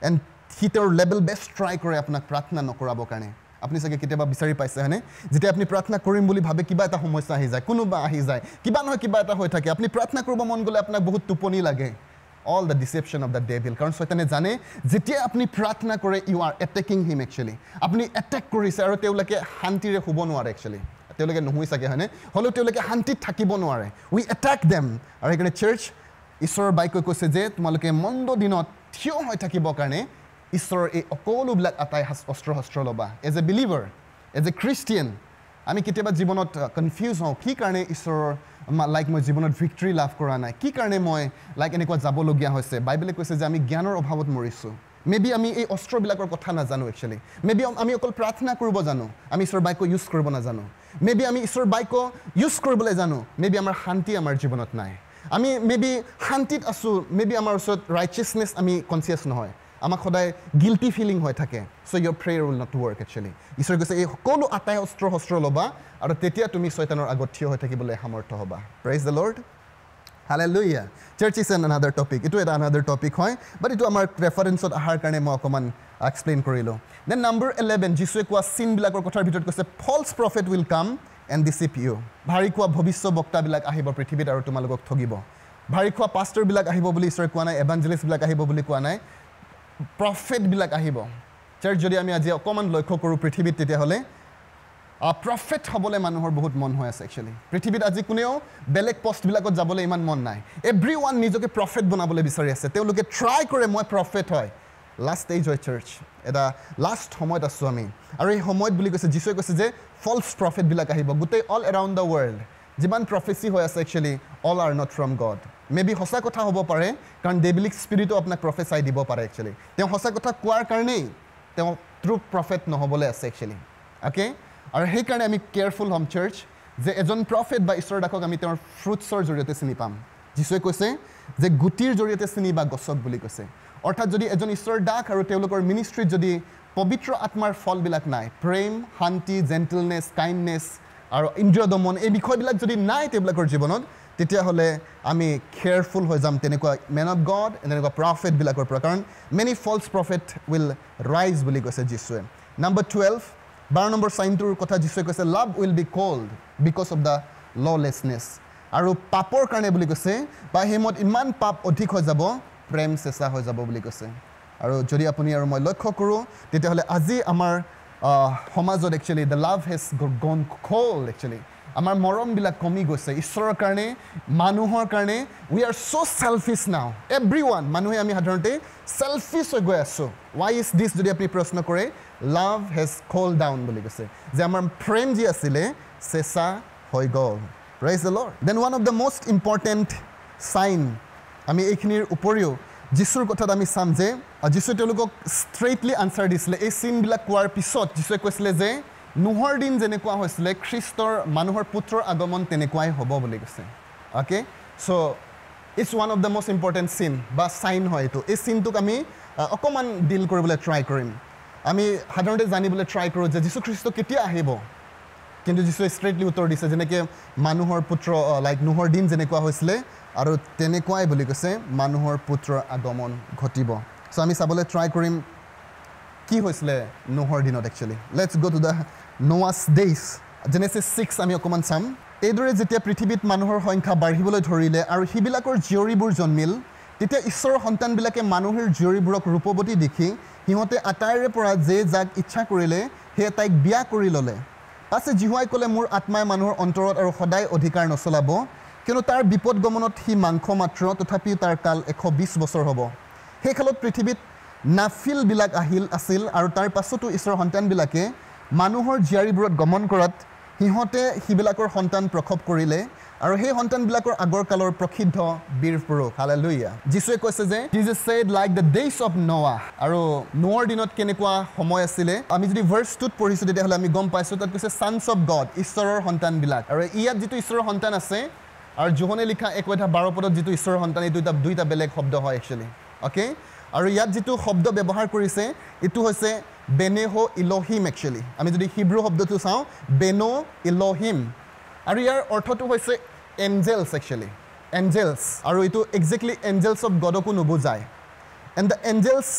এণ্ড সি তেওঁৰ লেভেল বেষ্ট ট্ৰাই কৰে আপোনাক প্ৰাৰ্থনা নকৰাবৰ কাৰণে। আপুনি চাগে কেতিয়াবা বিচাৰি পাইছে হয়নে, যেতিয়া আপুনি প্ৰাৰ্থনা কৰিম বুলি ভাবে কিবা এটা সমস্যা আহি যায়, কোনোবা আহি যায়, কিবা নহয় কিবা এটা হৈ থাকে। আপুনি প্ৰাৰ্থনা কৰিব মন গ'লে আপোনাক বহুত টোপনি লাগে। All the deception of the devil. কাৰণ ছয়তানে জানে যেতিয়া আপুনি প্ৰাৰ্থনা কৰে, you are attacking him actually. আপুনি এটেক কৰিছে আৰু তেওঁলোকে শান্তিৰে শুব নোৱাৰে একচুৱেলি। তেওঁলোকে নুশুই চাগে হয়নে, হ'লেও তেওঁলোকে শান্তিত থাকিব নোৱাৰে। We attack them. আৰু সেইকাৰণে চাৰ্চ, ঈশ্বৰৰ বাক্যই কৈছে যে তোমালোকে মন্দ দিনত থিয় হৈ থাকিবৰ কাৰণে ঈশ্বৰৰ এই সকলোবিলাক আটাই অস্ত্ৰ শস্ত্ৰ ল'বা। As a believer, as a Christian, আমি কেতিয়াবা জীৱনত কনফিউজ হওঁ, কি কাৰণে ঈশ্বৰৰ লাইক মই জীৱনত ভিক্টৰী লাভ কৰা নাই, কি কাৰণে মই লাইক এনেকুৱা যাবলগীয়া হৈছে। বাইবেলে কৈছে যে আমি জ্ঞানৰ অভাৱত মৰিছোঁ। মে বি আমি এই অস্ত্ৰবিলাকৰ কথা নাজানো একচুৱেলি। মে বি আমি অকল প্ৰাৰ্থনা কৰিব জানো, আমি ঈশ্বৰৰ বাক্য ইউজ কৰিব নাজানো। মে বি আমি ঈশ্বৰৰ বাক্য ইউজ কৰিবলৈ জানো, মে বি আমাৰ শান্তি আমাৰ জীৱনত নাই। আমি মে বি শান্তিত আছোঁ, মে বি আমাৰ ওচৰত ৰাইচিয়াছনেছ আমি কনচিয়াছ নহয়, আমাক সদায় গিল্টি ফিলিং হৈ থাকে। So your prayer will not work actually. ঈশ্বৰে কৈছে এই সকলো আটাই অস্ত্ৰ শস্ত্ৰ ল'বা আৰু তেতিয়া তুমি ছয়তানৰ আগত থিয় হৈ থাকিবলৈ সামৰ্থ্য হ'বা। Praise the Lord, hallelujah. Church is an another topic, এইটো এটা আনাডাৰ টপিক হয়, বাট এইটো আমাৰ ৰেফাৰেঞ্চত অহাৰ কাৰণে মই অকণমান এক্সপ্লেইন কৰিলোঁ। Then number eleven, যীশুৱে কোৱা চিনবিলাকৰ কথাৰ ভিতৰত কৈছে false prophet will come and deceive you. ভাৰী খোৱা ভৱিষ্য বক্তাবিলাক আহিব পৃথিৱীত আৰু তোমালোকক ঠগিব। ভাৰী খোৱা পাষ্টৰবিলাক আহিব বুলি ঈশ্বৰে কোৱা নাই, এভাঞ্জেলিষ্টবিলাক আহিব বুলি কোৱা নাই, প্ৰফেটবিলাক আহিব। চাৰ্চ, যদি আমি আজি অকণমান লক্ষ্য কৰোঁ পৃথিৱীত, তেতিয়াহ'লে প্ৰফেট হ'বলৈ মানুহৰ বহুত মন হৈ আছে একচুৱেলি। পৃথিৱীত আজি কোনেও বেলেগ পষ্টবিলাকত যাবলৈ ইমান মন নাই। এভৰি ওৱান নিজকে প্ৰফেট বনাবলৈ বিচাৰি আছে। তেওঁলোকে ট্ৰাই কৰে মই প্ৰফেট হয়। লাষ্ট ষ্টেজ হয় চাৰ্চ, এটা লাষ্ট সময়ত আছোঁ আমি। আৰু এই সময়ত বুলি কৈছে, যীশুৱে কৈছে যে ফল্ছ প্ৰফেটবিলাক আহিব গোটেই অল এৰাউণ্ড the world. যিমান প্ৰফেচি হৈ আছে actually all are not from God. Maybe সঁচা কথা হ'ব পাৰে, কাৰণ ডেভিলিক স্পিৰিটো আপোনাক প্ৰফেচাই দিব পাৰে একচুৱেলি। তেওঁ সঁচা কথা কোৱাৰ কাৰণেই তেওঁ ট্ৰু প্ৰফেট নহ'বলৈ আছে একচুৱেলি। অ'কে, আৰু সেইকাৰণে আমি কেয়াৰফুল হ'ম চাৰ্চ, যে এজন প্ৰফেট বা ঈশ্বৰৰ দাসক আমি তেওঁৰ ফ্ৰুটছৰ জৰিয়তে চিনি পাম। যীশুৱে কৈছে যে গুটিৰ জৰিয়তে চিনি বা গছক বুলি কৈছে। অৰ্থাৎ যদি এজন ঈশ্বৰৰ দাস আৰু তেওঁলোকৰ মিনিষ্ট্ৰীত যদি পবিত্ৰ আত্মাৰ ফলবিলাক নাই, প্ৰেম, শান্তি, জেণ্টেলনেছ, কাইণ্ডনেছ আৰু ইন্দ্ৰিয় দমন, এই বিষয়বিলাক যদি নাই তেওঁলোকৰ জীৱনত, তেতিয়াহ'লে আমি কেয়াৰফুল হৈ যাম তেনেকুৱা মেন অফ গড, তেনেকুৱা প্ৰফেটবিলাকৰ পৰা। কাৰণ many false prophet will rise বুলি কৈছে যীশুৱে। নাম্বাৰ টুৱেলভ, বাৰ নম্বৰ চাইনটোৰ কথা যীশুৱে কৈছে, love will be cold because of the lawlessness. আৰু পাপৰ কাৰণে বুলি কৈছে, বা সেই সময়ত ইমান পাপ অধিক হৈ যাব, প্ৰেম চেঁচা হৈ যাব বুলি কৈছে। আৰু যদি আপুনি আৰু মই লক্ষ্য কৰোঁ, তেতিয়াহ'লে আজি আমাৰ সমাজত actually the love has gone cold actually. আমাৰ মৰমবিলাক কমি গৈছে ঈশ্বৰৰ কাৰণে, মানুহৰ কাৰণে। We are so selfish now, everyone. মানুহে আমি সাধাৰণতে চেলফিছ হৈ গৈ আছোঁ। ৱাই is দিছ যদি আপুনি প্ৰশ্ন কৰে, লাভ হেজ কল্ড ডাউন বুলি কৈছে, যে আমাৰ প্ৰেম যি আছিলে চেঁচা হৈ গ'ল। Praise the Lord. Then one of the most important sign, আমি এইখিনিৰ উপৰিও যীশুৰ কথাত আমি চাম যে যীশুৱে তেওঁলোকক ষ্ট্ৰেইটলি আনচাৰ দিছিলে। এই চিনবিলাক কোৱাৰ পিছত যীশুৱে কৈছিলে যে নোহৰ দিন যেনেকুৱা হৈছিলে, খ্ৰীষ্টৰ মানুহৰ পুত্ৰৰ আগমন তেনেকুৱাই হ'ব বুলি কৈছে। Okay, so it's one of the most important sign বা চাইন হয় এইটো। এই চিনটোক আমি অকণমান ডিল কৰিবলৈ ট্ৰাই কৰিম। আমি সাধাৰণতে জানিবলৈ ট্ৰাই কৰোঁ যে যীশুখ্ৰীষ্ট কেতিয়া আহিব, কিন্তু যীশুৱে ষ্ট্ৰেইটলি উত্তৰ দিছে যেনেকৈ মানুহৰ পুত্ৰ লাইক নোহৰ দিন যেনেকুৱা হৈছিলে আৰু তেনেকুৱাই বুলি কৈছে মানুহৰ পুত্ৰৰ আগমন ঘটিব। চ' আমি চাবলৈ ট্ৰাই কৰিম কি হৈছিলে নোহৰ দিনত actually let's go to the Noah's days Genesis six আমি অকণমান চাম এইদৰে যেতিয়া পৃথিৱীত মানুহৰ সংখ্যা বাঢ়িবলৈ ধৰিলে আৰু সিবিলাকৰ জীয়ৰীবোৰ জন্মিল তেতিয়া ঈশ্বৰৰ সন্তানবিলাকে মানুহৰ জীয়ৰীবোৰক ৰূপৱতী দেখি সিহঁতে আটাইৰে পৰা যে যাক ইচ্ছা কৰিলে সেয়ে তাইক বিয়া কৰি ল'লে পাছে যিহোৱাই ক'লে মোৰ আত্মাই মানুহৰ অন্তৰত আৰু সদায় অধিকাৰ নচলাব কিয়নো তাৰ বিপদ গমনত সি মাংস মাত্ৰ তথাপিও তাৰ কাল এশ বিছ বছৰ হ'ব সেই কালত পৃথিৱীত নাফিলবিলাক আহিল আছিল আৰু তাৰ পাছতো ঈশ্বৰৰ সন্তানবিলাকে মানুহৰ জীয়াৰীবোৰত গমন কৰাত সিহঁতে সিবিলাকৰ সন্তান প্ৰসৱ কৰিলে আৰু সেই সন্তানবিলাকৰ আগৰ কালৰ প্ৰসিদ্ধ বীৰ পুৰুষ হালেলুয়া যীশুৱে কৈছে যে Jesus said like the days of Noah আৰু নোৱাৰ দিনত কেনেকুৱা সময় আছিলে আমি যদি ভাৰ্চ টুত পঢ়িছোঁ তেতিয়াহ'লে আমি গম পাইছোঁ তাত কৈছে ছানছ অফ গড ঈশ্বৰৰ সন্তানবিলাক আৰু ইয়াত যিটো ঈশ্বৰৰ সন্তান আছে আৰু জোহনে লিখা এক অধ্যায় বাৰ পদত যিটো ঈশ্বৰৰ সন্তান এই দুটা দুইটা বেলেগ শব্দ হয় একচুৱেলি অ'কে আৰু ইয়াত যিটো শব্দ ব্যৱহাৰ কৰিছে এইটো হৈছে বেনেহ ইলহিম একচুৱেলি আমি যদি হিব্ৰু শব্দটো চাওঁ বেনো ইলহিম আৰু ইয়াৰ অৰ্থটো হৈছে এঞ্জেলছ একচুৱেলি এঞ্জেলছ আৰু এইটো একজেক্টলি এঞ্জেলছ অফ গডকো নুবুজায় এণ্ড the Angeles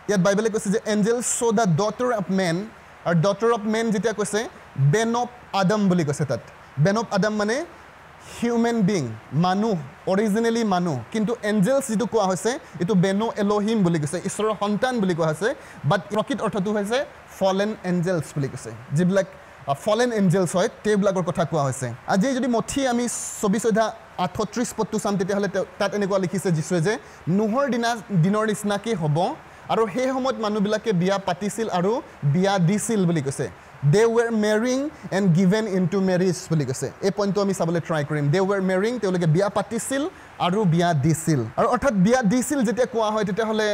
ইয়াত বাইবেলে কৈছে যে angels saw the daughter of men আৰু ডটাৰ অফ মেন যেতিয়া কৈছে বেন অফ আদম বুলি কৈছে তাত বেন অফ আদম মানে হিউমেন বিং মানুহ অৰিজিনেলি মানুহ কিন্তু এঞ্জেলছ যিটো কোৱা হৈছে এইটো বেনো এলহিম বুলি কৈছে ঈশ্বৰৰ সন্তান বুলি কোৱা হৈছে বাট প্ৰকৃত অৰ্থটো হৈছে ফলেন এঞ্জেলছ বুলি কৈছে যিবিলাক ফলেন এঞ্জেলছ হয় তেওঁবিলাকৰ কথা কোৱা হৈছে আজি যদি মথি আমি চৌবিছ অধ্যায় আঠত্ৰিছ পদটো চাম তেতিয়াহ'লে তাত এনেকুৱা লিখিছে যীশুৱে যে নোহৰ দিনা দিনৰ নিচিনাকৈ হ'ব আৰু সেই সময়ত মানুহবিলাকে বিয়া পাতিছিল আৰু বিয়া দিছিল বুলি কৈছে they were marrying and given into marriage বুলি কৈছে এই পইণ্টটো আমি চাবলৈ ট্ৰাই কৰিম they were marrying তেওঁলোকে বিয়া পাতিছিল আৰু বিয়া দিছিল আৰু অৰ্থাৎ বিয়া দিছিল যেতিয়া কোৱা হয় তেতিয়াহ'লে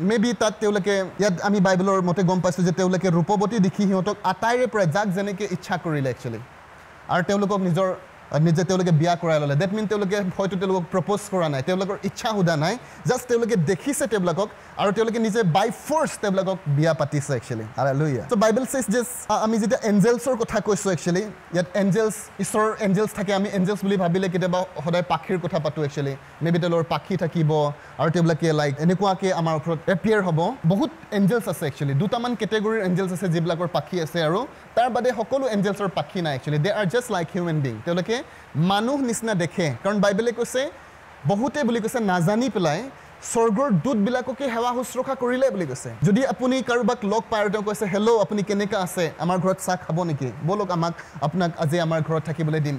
মে বি তাত তেওঁলোকে ইয়াত আমি বাইবেলৰ মতে গম পাইছোঁ যে তেওঁলোকে ৰূপৱতী দেখি সিহঁতক আটাইৰে পৰা যাক যেনেকৈ ইচ্ছা কৰিলে একচুৱেলি আৰু তেওঁলোকক নিজৰ নিজে তেওঁলোকে বিয়া কৰাই ল'লে that mean তেওঁলোকে হয়তো তেওঁলোকক প্ৰপ'জ কৰা নাই তেওঁলোকৰ ইচ্ছা সোধা নাই জাষ্ট তেওঁলোকে দেখিছে তেওঁলোকক আৰু তেওঁলোকে নিজে বাই ফ'ৰ্চ তেওঁলোকক বিয়া পাতিছে একচুৱেলি হালেলুয়া চ' বাইবেল চেজ যে আমি যেতিয়া এঞ্জেলছৰ কথা কৈছোঁ একচুৱেলি ইয়াত এঞ্জেলছ ঈশ্বৰৰ এঞ্জেলছ থাকে আমি এঞ্জেলছ বুলি ভাবিলে কেতিয়াবা সদায় পাখিৰ কথা পাতোঁ একচুৱেলি মে বি তেওঁলোকৰ পাখি থাকিব আৰু তেওঁলোকে লাইক এনেকুৱাকৈ আমাৰ ওপৰত এপিয়াৰ হ'ব বহুত এঞ্জেলছ আছে একচুৱেলি দুটামান কেটেগৰীৰ এঞ্জেলছ আছে যিবিলাকৰ পাখি আছে আৰু তাৰ বাদে সকলো এঞ্জেলছৰ পাখি নাই actually they are just like human being তেওঁলোকে মানুহ নিচিনা দেখে কাৰণ বাইবেলে কৈছে বহুতে বুলি কৈছে নাজানি পেলাই স্বৰ্গৰ দূতবিলাককে সেৱা শুশ্ৰূষা কৰিলে বুলি কৈছে যদি আপুনি কাৰোবাক লগ পায় আৰু তেওঁ কৈছে হেল্ল' আপুনি কেনেকুৱা আছে আমাৰ ঘৰত চাহ খাব নেকি ব'লক আমাক আপোনাক আজি আমাৰ ঘৰত থাকিবলৈ দিম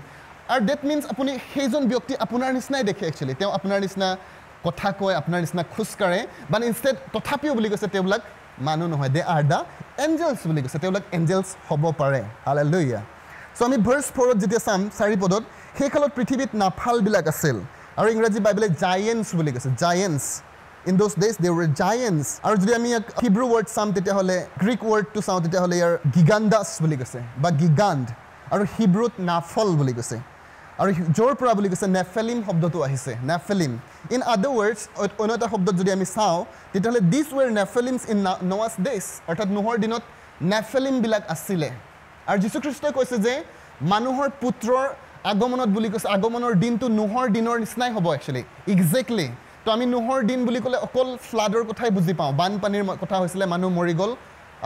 আৰু that means আপুনি সেইজন ব্যক্তি আপোনাৰ নিচিনাই দেখে একচুৱেলি তেওঁ আপোনাৰ নিচিনা কথা কয় আপোনাৰ নিচিনা খোজকাঢ়ে বাট ইনষ্টেড তথাপিও বুলি কৈছে তেওঁবিলাক মানুহ নহয় they are the angels বুলি কৈছে তেওঁলোক এঞ্জেলছ হ'ব পাৰে হালেলুয়া চ' আমি ভাৰ্চ ফ'ৰত যেতিয়া চাম চাৰি পদত সেই কালত পৃথিৱীত নাফালবিলাক আছিল আৰু ইংৰাজী বাইবেলে জায়েণ্টছ বুলি কৈছে giants in those days they were giants আৰু যদি আমি ইয়াক হিব্ৰু ৱৰ্ড চাম তেতিয়াহ'লে গ্ৰীক ৱৰ্ডটো চাওঁ তেতিয়াহ'লে ইয়াৰ গিগাণ্ডাছ বুলি কৈছে বা গিগাণ্ড আৰু হিব্ৰুত নাফল বুলি কৈছে আৰু য'ৰ পৰা বুলি কৈছে নেফেলিম শব্দটো আহিছে নেফেলিম ইন আদাৰ ৱৰ্ডছ অন্য এটা শব্দত যদি আমি চাওঁ তেতিয়াহ'লে these were Nephilims in Noah's days অৰ্থাৎ নোহৰ দিনত নেফেলিমবিলাক আছিলে আৰু যীশুখ্ৰীষ্টই কৈছে যে মানুহৰ পুত্ৰৰ আগমনত বুলি কৈছে আগমনৰ দিনটো নোহৰ দিনৰ নিচিনাই হ'ব একচুৱেলি একজেক্টলি তো আমি নোহৰ দিন বুলি ক'লে অকল ফ্লাডৰ কথাই বুজি পাওঁ বানপানীৰ কথা হৈছিলে মানুহ মৰি গ'ল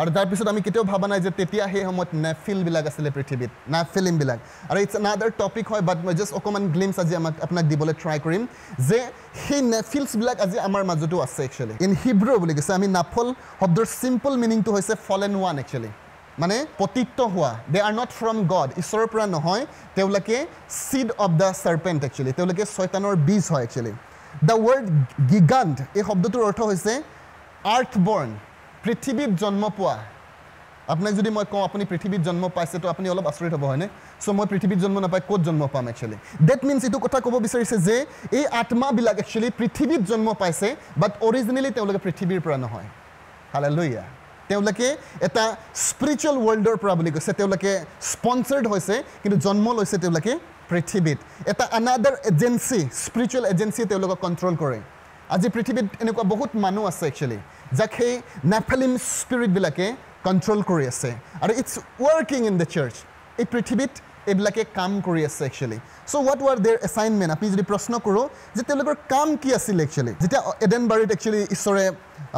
আৰু তাৰপিছত আমি কেতিয়াও ভবা নাই যে তেতিয়া সেই সময়ত নেফিলবিলাক আছিলে পৃথিৱীত নেফিলিমবিলাক আৰু it's another topic হয় বাট মই জাষ্ট অকণমান গ্লিমছ আজি আমাক আপোনাক দিবলৈ ট্ৰাই কৰিম যে সেই নেফিলছবিলাক আজি আমাৰ মাজতো আছে একচুৱেলি ইন হিব্ৰু বুলি কৈছে আমি নাফল শব্দৰ চিম্পল মিনিংটো হৈছে ফলেন ওৱান একচুৱেলি মানে পতিত হোৱা they are not from God ঈশ্বৰৰ পৰা নহয় তেওঁলোকে seed of the serpent actually তেওঁলোকে ছয়তানৰ বীজ হয় একচুৱেলি the word গিগাণ্ট এই শব্দটোৰ অৰ্থ হৈছে আৰ্থ বৰ্ণ পৃথিৱীত জন্ম পোৱা আপোনাক যদি মই কওঁ আপুনি পৃথিৱীত জন্ম পাইছে তো আপুনি অলপ আচৰিত হ'ব হয়নে চ' মই পৃথিৱীত জন্ম নাপাই ক'ত জন্ম পাম একচুৱেলি that means এইটো কথা ক'ব বিচাৰিছে যে এই আত্মাবিলাক একচুৱেলি পৃথিৱীত জন্ম পাইছে বাট অৰিজিনেলি তেওঁলোকে পৃথিৱীৰ পৰা নহয় হালেলুয়া তেওঁলোকে এটা স্পিৰিচুৱেল ৱৰ্ল্ডৰ পৰা বুলি কৈছে তেওঁলোকে স্পনচাৰ্ড হৈছে কিন্তু জন্ম লৈছে তেওঁলোকে পৃথিৱীত এটা আনাডাৰ এজেঞ্চি স্পিৰিচুৱেল এজেঞ্চিয়ে তেওঁলোকক কণ্ট্ৰল কৰে আজি পৃথিৱীত এনেকুৱা বহুত মানুহ আছে একচুৱেলি যাক সেই নেফেলিম স্পিৰিটবিলাকে কণ্ট্ৰল কৰি আছে আৰু it's working in the church এই পৃথিৱীত এইবিলাকে কাম কৰি আছে actually so what were their assignment আপুনি যদি প্ৰশ্ন কৰোঁ যে তেওঁলোকৰ কাম কি আছিল একচুৱেলি যেতিয়া এডেনবাৰীত একচুৱেলি ঈশ্বৰে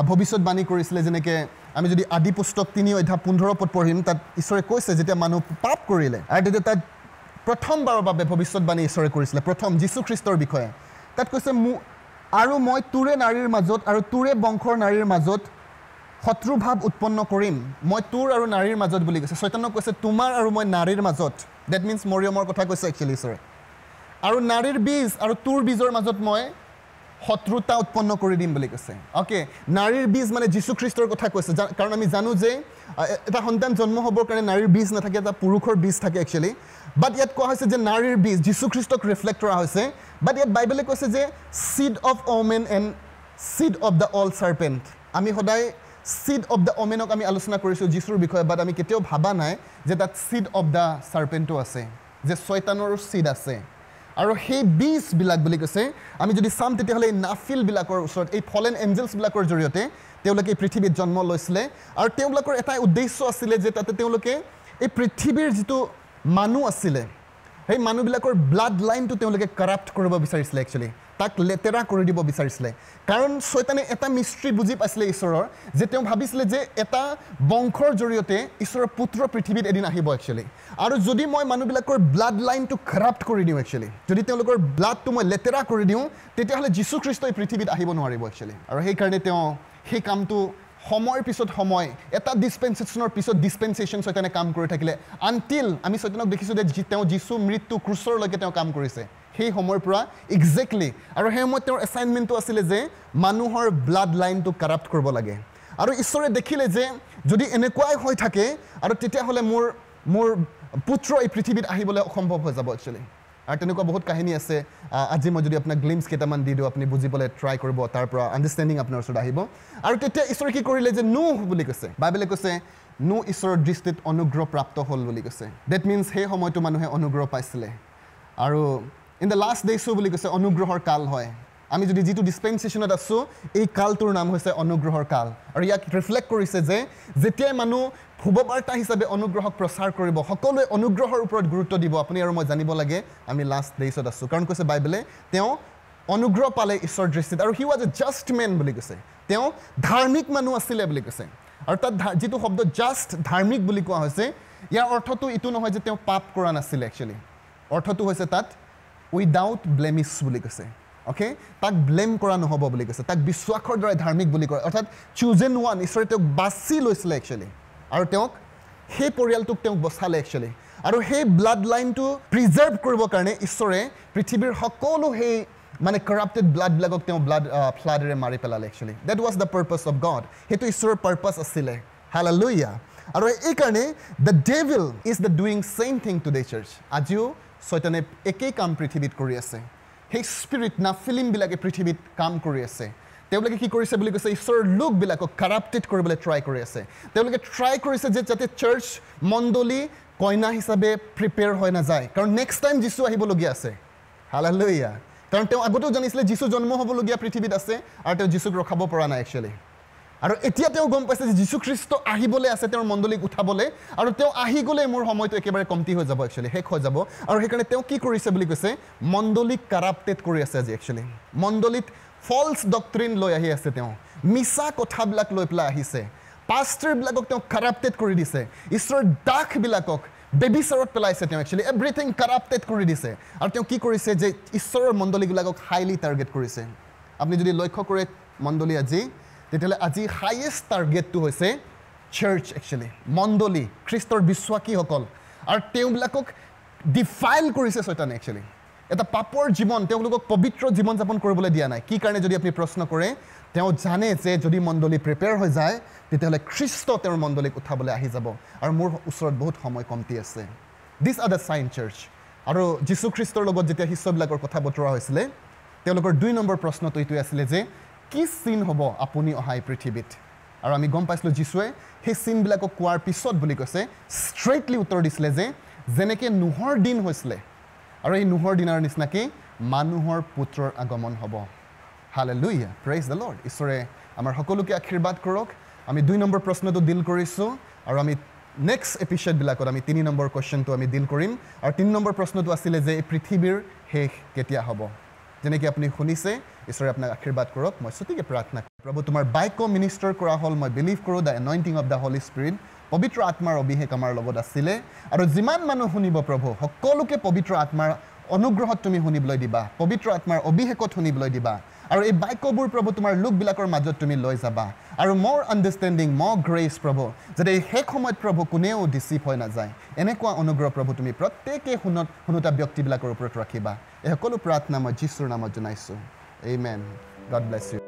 ভৱিষ্যতবাণী কৰিছিলে যেনেকৈ আমি যদি আদি পুস্তক তিনি অধ্যায় পোন্ধৰ পদ পঢ়িম, তাত ঈশ্বৰে কৈছে যেতিয়া মানুহ পাপ কৰিলে আৰু তেতিয়া তাত প্ৰথমবাৰৰ বাবে ভৱিষ্যতবাণী ঈশ্বৰে কৰিছিলে, প্ৰথম যীশুখ্ৰীষ্টৰ বিষয়ে। তাত কৈছে, আৰু মই তোৰে নাৰীৰ মাজত আৰু তোৰে বংশৰ নাৰীৰ মাজত শত্ৰুভাৱ উৎপন্ন কৰিম। মই তোৰ আৰু নাৰীৰ মাজত বুলি কৈছে। চৈতানক কৈছে তোমাৰ আৰু মই নাৰীৰ মাজত, that means মৰিয়মৰ কথা কৈছে একচুৱেলি ঈশ্বৰে। আৰু নাৰীৰ বীজ আৰু তোৰ বীজৰ মাজত মই শত্ৰুতা উৎপন্ন কৰি দিম বুলি কৈছে। অ'কে, নাৰীৰ বীজ মানে যীশুখ্ৰীষ্টৰ কথা কৈছে, কাৰণ আমি জানো যে এটা সন্তান জন্ম হ'বৰ কাৰণে নাৰীৰ বীজ নাথাকে, এটা পুৰুষৰ বীজ থাকে একচুৱেলি। বাট ইয়াত কোৱা হৈছে যে নাৰীৰ বীজ যীশুখ্ৰীষ্টক ৰিফ্লেক্ট কৰা হৈছে। বাট ইয়াত বাইবেলে কৈছে যে seed of woman and seed of the old serpent. আমি সদায় চিড অফ the ওমেনক আমি আলোচনা কৰিছোঁ যীশুৰ বিষয়ে, বাট আমি কেতিয়াও ভাবা নাই যে তাত চিড অফ the চাৰ্পেণ্টো আছে, যে ছয়তানৰো চিড আছে। আৰু সেই বীজবিলাক বুলি কৈছে, আমি যদি চাম তেতিয়াহ'লে এই নাফিলবিলাকৰ ওচৰত, এই ফলেন এঞ্জেলছবিলাকৰ জৰিয়তে তেওঁলোকে এই পৃথিৱীত জন্ম লৈছিলে। আৰু তেওঁলোকৰ এটাই উদ্দেশ্য আছিলে যে তাতে তেওঁলোকে এই পৃথিৱীৰ যিটো মানুহ আছিলে সেই মানুহবিলাকৰ ব্লাড লাইনটো তেওঁলোকে কৰাপ্ট কৰিব বিচাৰিছিলে, একচুৱেলি তাক লেতেৰা কৰি দিব বিচাৰিছিলে। কাৰণ ছয়তানে এটা মিষ্ট্ৰী বুজি পাইছিলে ঈশ্বৰৰ, যে তেওঁ ভাবিছিলে যে এটা বংশৰ জৰিয়তে ঈশ্বৰৰ পুত্ৰ পৃথিৱীত এদিন আহিব একচুৱেলি, আৰু যদি মই মানুহবিলাকৰ ব্লাড লাইনটো কৰাপ্ট কৰি দিওঁ একচুৱেলি, যদি তেওঁলোকৰ ব্লাডটো মই লেতেৰা কৰি দিওঁ, তেতিয়াহ'লে যীশুখ্ৰীষ্টই পৃথিৱীত আহিব নোৱাৰিব একচুৱেলি। আৰু সেইকাৰণে তেওঁ সেই কামটো সময়ৰ পিছত সময়, এটা ডিছপেনচেশ্যনৰ পিছত ডিছপেনচেশ্যন ছয়তানে কাম কৰি থাকিলে, আনটিল আমি ছয়তানক দেখিছোঁ যে তেওঁ যীশু মৃত্যু ক্ৰুচৰলৈকে তেওঁ কাম কৰিছে সেই সময়ৰ পৰা একজেক্টলি। আৰু সেই সময়ত তেওঁৰ এছাইনমেণ্টটো আছিলে যে মানুহৰ ব্লাড লাইনটো কাৰাপ্ট কৰিব লাগে। আৰু ঈশ্বৰে দেখিলে যে যদি এনেকুৱাই হৈ থাকে আৰু তেতিয়াহ'লে মোৰ মোৰ পুত্ৰ এই পৃথিৱীত আহিবলৈ অসম্ভৱ হৈ যাব একচুৱেলি। আৰু তেনেকুৱা বহুত কাহিনী আছে। আজি মই যদি আপোনাক গ্লিমছ কেইটামান দি দিওঁ, আপুনি বুজিবলৈ ট্ৰাই কৰিব, তাৰ পৰা আণ্ডাৰষ্টেণ্ডিং আপোনাৰ ওচৰত আহিব। আৰু তেতিয়া ঈশ্বৰে কি কৰিলে যে নুহ বুলি কৈছে, বাইবেলে কৈছে নুহ ঈশ্বৰৰ দৃষ্টিত অনুগ্ৰহ প্ৰাপ্ত হ'ল বুলি কৈছে। That means সেই সময়টো মানুহে অনুগ্ৰহ পাইছিলে। আৰু ইন the last ডেইছো বুলি কৈছে অনুগ্ৰহৰ কাল হয়। আমি যদি যিটো ডিছপেনচেশ্যনত আছোঁ, এই কালটোৰ নাম হৈছে অনুগ্ৰহৰ কাল। আৰু ইয়াক ৰিফ্লেক্ট কৰিছে যে যেতিয়াই মানুহ শুভবাৰ্তা হিচাপে অনুগ্ৰহক প্ৰচাৰ কৰিব, সকলোৱে অনুগ্ৰহৰ ওপৰত গুৰুত্ব দিব। আপুনি আৰু মই জানিব লাগে আমি লাষ্ট ডেইছত আছোঁ, কাৰণ কৈছে বাইবেলে তেওঁ অনুগ্ৰহ পালে ঈশ্বৰৰ দৃষ্টিত। আৰু he was a just man বুলি কৈছে, তেওঁ ধাৰ্মিক মানুহ আছিলে বুলি কৈছে। আৰু তাত যিটো শব্দ জাষ্ট ধাৰ্মিক বুলি কোৱা হৈছে, ইয়াৰ অৰ্থটো এইটো নহয় যে তেওঁ পাপ কৰা নাছিলে একচুৱেলি, অৰ্থটো হৈছে তাত উইদাউট ব্লেমিছ বুলি কৈছে। অ'কে, তাক ব্লেম কৰা নহ'ব বুলি কৈছে, তাক বিশ্বাসৰ দ্বাৰাই ধাৰ্মিক বুলি কয়, অৰ্থাৎ চুজেন ওৱান, ঈশ্বৰে তেওঁক বাছি লৈছিলে একচুৱেলি, আৰু তেওঁক সেই পৰিয়ালটোক তেওঁক বচালে একচুৱেলি। আৰু সেই ব্লাড লাইনটো প্ৰিজাৰ্ভ কৰিবৰ কাৰণে ঈশ্বৰে পৃথিৱীৰ সকলো সেই মানে কৰাপ্টেড ব্লাডবিলাকক তেওঁ ব্লাড ফ্লাডেৰে মাৰি পেলালে actually. That was the purpose of God, সেইটো ঈশ্বৰৰ পাৰ্পাছ আছিলে। হালেলুয়া। আৰু এইকাৰণে the devil is the doing same thing today church. আজিও ছয়তানে একেই কাম পৃথিৱীত কৰি আছে। সেই স্পিৰিট না ফিলিমবিলাকে পৃথিৱীত কাম কৰি আছে। তেওঁলোকে কি কৰিছে বুলি কৈছে, ঈশ্বৰৰ লোকবিলাকক কাৰাপ্টেড কৰিবলৈ ট্ৰাই কৰি আছে। তেওঁলোকে ট্ৰাই কৰিছে যে যাতে চাৰ্চ মণ্ডলী কইনা হিচাপে প্ৰিপেয়াৰ হৈ নাযায়, কাৰণ নেক্সট টাইম যীশু আহিবলগীয়া আছে। হালেলুয়া। কাৰণ তেওঁ আগতেও জানিছিলে যীশু জন্ম হ'বলগীয়া পৃথিৱীত আছে, আৰু তেওঁ যীশুক ৰখাব পৰা নাই একচুৱেলি। আৰু এতিয়া তেওঁ গম পাইছে যে যীশুখ্ৰীষ্ট আহিবলৈ আছে তেওঁৰ মণ্ডলীক উঠাবলৈ, আৰু তেওঁ আহি গ'লে মোৰ সময়টো একেবাৰে কমটি হৈ যাব একচুৱেলি, শেষ হৈ যাব। আৰু সেইকাৰণে তেওঁ কি কৰিছে বুলি কৈছে, মণ্ডলীক কাৰাপ্টেড কৰি আছে আজি একচুৱেলি। মণ্ডলীত ফল্ছ ডক্ট্ৰিন লৈ আহি আছে, তেওঁ মিছা কথাবিলাক লৈ পেলাই আহিছে। পাষ্টাৰবিলাকক তেওঁ কাৰাপ্টেড কৰি দিছে, ঈশ্বৰৰ দাসবিলাকক বেবিচাৰত পেলাইছে তেওঁ একচুৱেলি, এভৰিথিং কাৰাপ্টেড কৰি দিছে। আৰু তেওঁ কি কৰিছে যে ঈশ্বৰৰ মণ্ডলীবিলাকক হাইলি টাৰ্গেট কৰিছে। আপুনি যদি লক্ষ্য কৰে মণ্ডলী আজি, তেতিয়াহ'লে আজি হাইয়েষ্ট টাৰ্গেটটো হৈছে চাৰ্চ একচুৱেলি, মণ্ডলী, খ্ৰীষ্টৰ বিশ্বাসীসকল। আৰু তেওঁবিলাকক ডিফাইল কৰিছে ছয়তানে একচুৱেলি, এটা পাপৰ জীৱন, তেওঁলোকক পবিত্ৰ জীৱন যাপন কৰিবলৈ দিয়া নাই। কি কাৰণে যদি আপুনি প্ৰশ্ন কৰে, তেওঁ জানে যে যদি মণ্ডলী প্ৰিপেয়াৰ হৈ যায় তেতিয়াহ'লে খ্ৰীষ্ট তেওঁৰ মণ্ডলীক উঠাবলৈ আহি যাব, আৰু মোৰ ওচৰত বহুত সময় কমটি আছে। This are the sign church. আৰু যীশুখ্ৰীষ্টৰ লগত যেতিয়া শিষ্যবিলাকৰ কথা বতৰা হৈছিলে, তেওঁলোকৰ দুই নম্বৰ প্ৰশ্নটো এইটোৱে আছিলে যে কি চিন হ'ব আপুনি অহা এই পৃথিৱীত? আৰু আমি গম পাইছিলোঁ যীশুৱে সেই চিনবিলাকক কোৱাৰ পিছত বুলি কৈছে, ষ্ট্ৰেইটলি উত্তৰ দিছিলে যে যেনেকৈ নোহৰ দিন হৈছিলে, আৰু এই নোহৰ দিনৰ নিচিনাকৈ মানুহৰ পুত্ৰৰ আগমন হ'ব। Hallelujah, praise the lord. ঈশ্বৰে আমাৰ সকলোকে আশীৰ্বাদ কৰক। আমি দুই নম্বৰ প্ৰশ্নটো ডিল কৰিছোঁ, আৰু আমি নেক্সট এপিছ'ডবিলাকত আমি তিনি নম্বৰ কুৱেশ্যনটো আমি ডিল কৰিম। আৰু তিনি নম্বৰ প্ৰশ্নটো আছিলে যে এই পৃথিৱীৰ শেষ কেতিয়া হ'ব, যেনেকৈ আপুনি শুনিছে, ঈশ্বৰে আপোনাক আশীৰ্বাদ কৰক। মই চুটিকৈ প্ৰাৰ্থনা কৰোঁ। প্ৰভু, তোমাৰ বাক্য মিনিষ্টাৰ কৰা হ'ল। মই বিলিভ কৰোঁ the anointing of the Holy Spirit, পবিত্ৰ আত্মাৰ অভিষেক আমাৰ লগত আছিলে। আৰু যিমান মানুহ শুনিব প্ৰভু, সকলোকে পবিত্ৰ আত্মাৰ অনুগ্ৰহত তুমি শুনিবলৈ দিবা, পবিত্ৰ আত্মাৰ অভিষেকত শুনিবলৈ দিবা। আৰু এই বাক্যবোৰ প্ৰভু তোমাৰ লোকবিলাকৰ মাজত তুমি লৈ যাবা, আৰু মোৰ আণ্ডাৰষ্টেণ্ডিং, মোৰ গ্ৰেচ প্ৰভু, যাতে এই শেষ সময়ত প্ৰভু কোনেও ডিচিভ হৈ নাযায়, এনেকুৱা অনুগ্ৰহ প্ৰভু তুমি প্ৰত্যেকেই শুনত শুনোতা ব্যক্তিবিলাকৰ ওপৰত ৰাখিবা। এই সকলো প্ৰাৰ্থনা মই যীশুৰ নামত জনাইছোঁ। Amen. God bless you.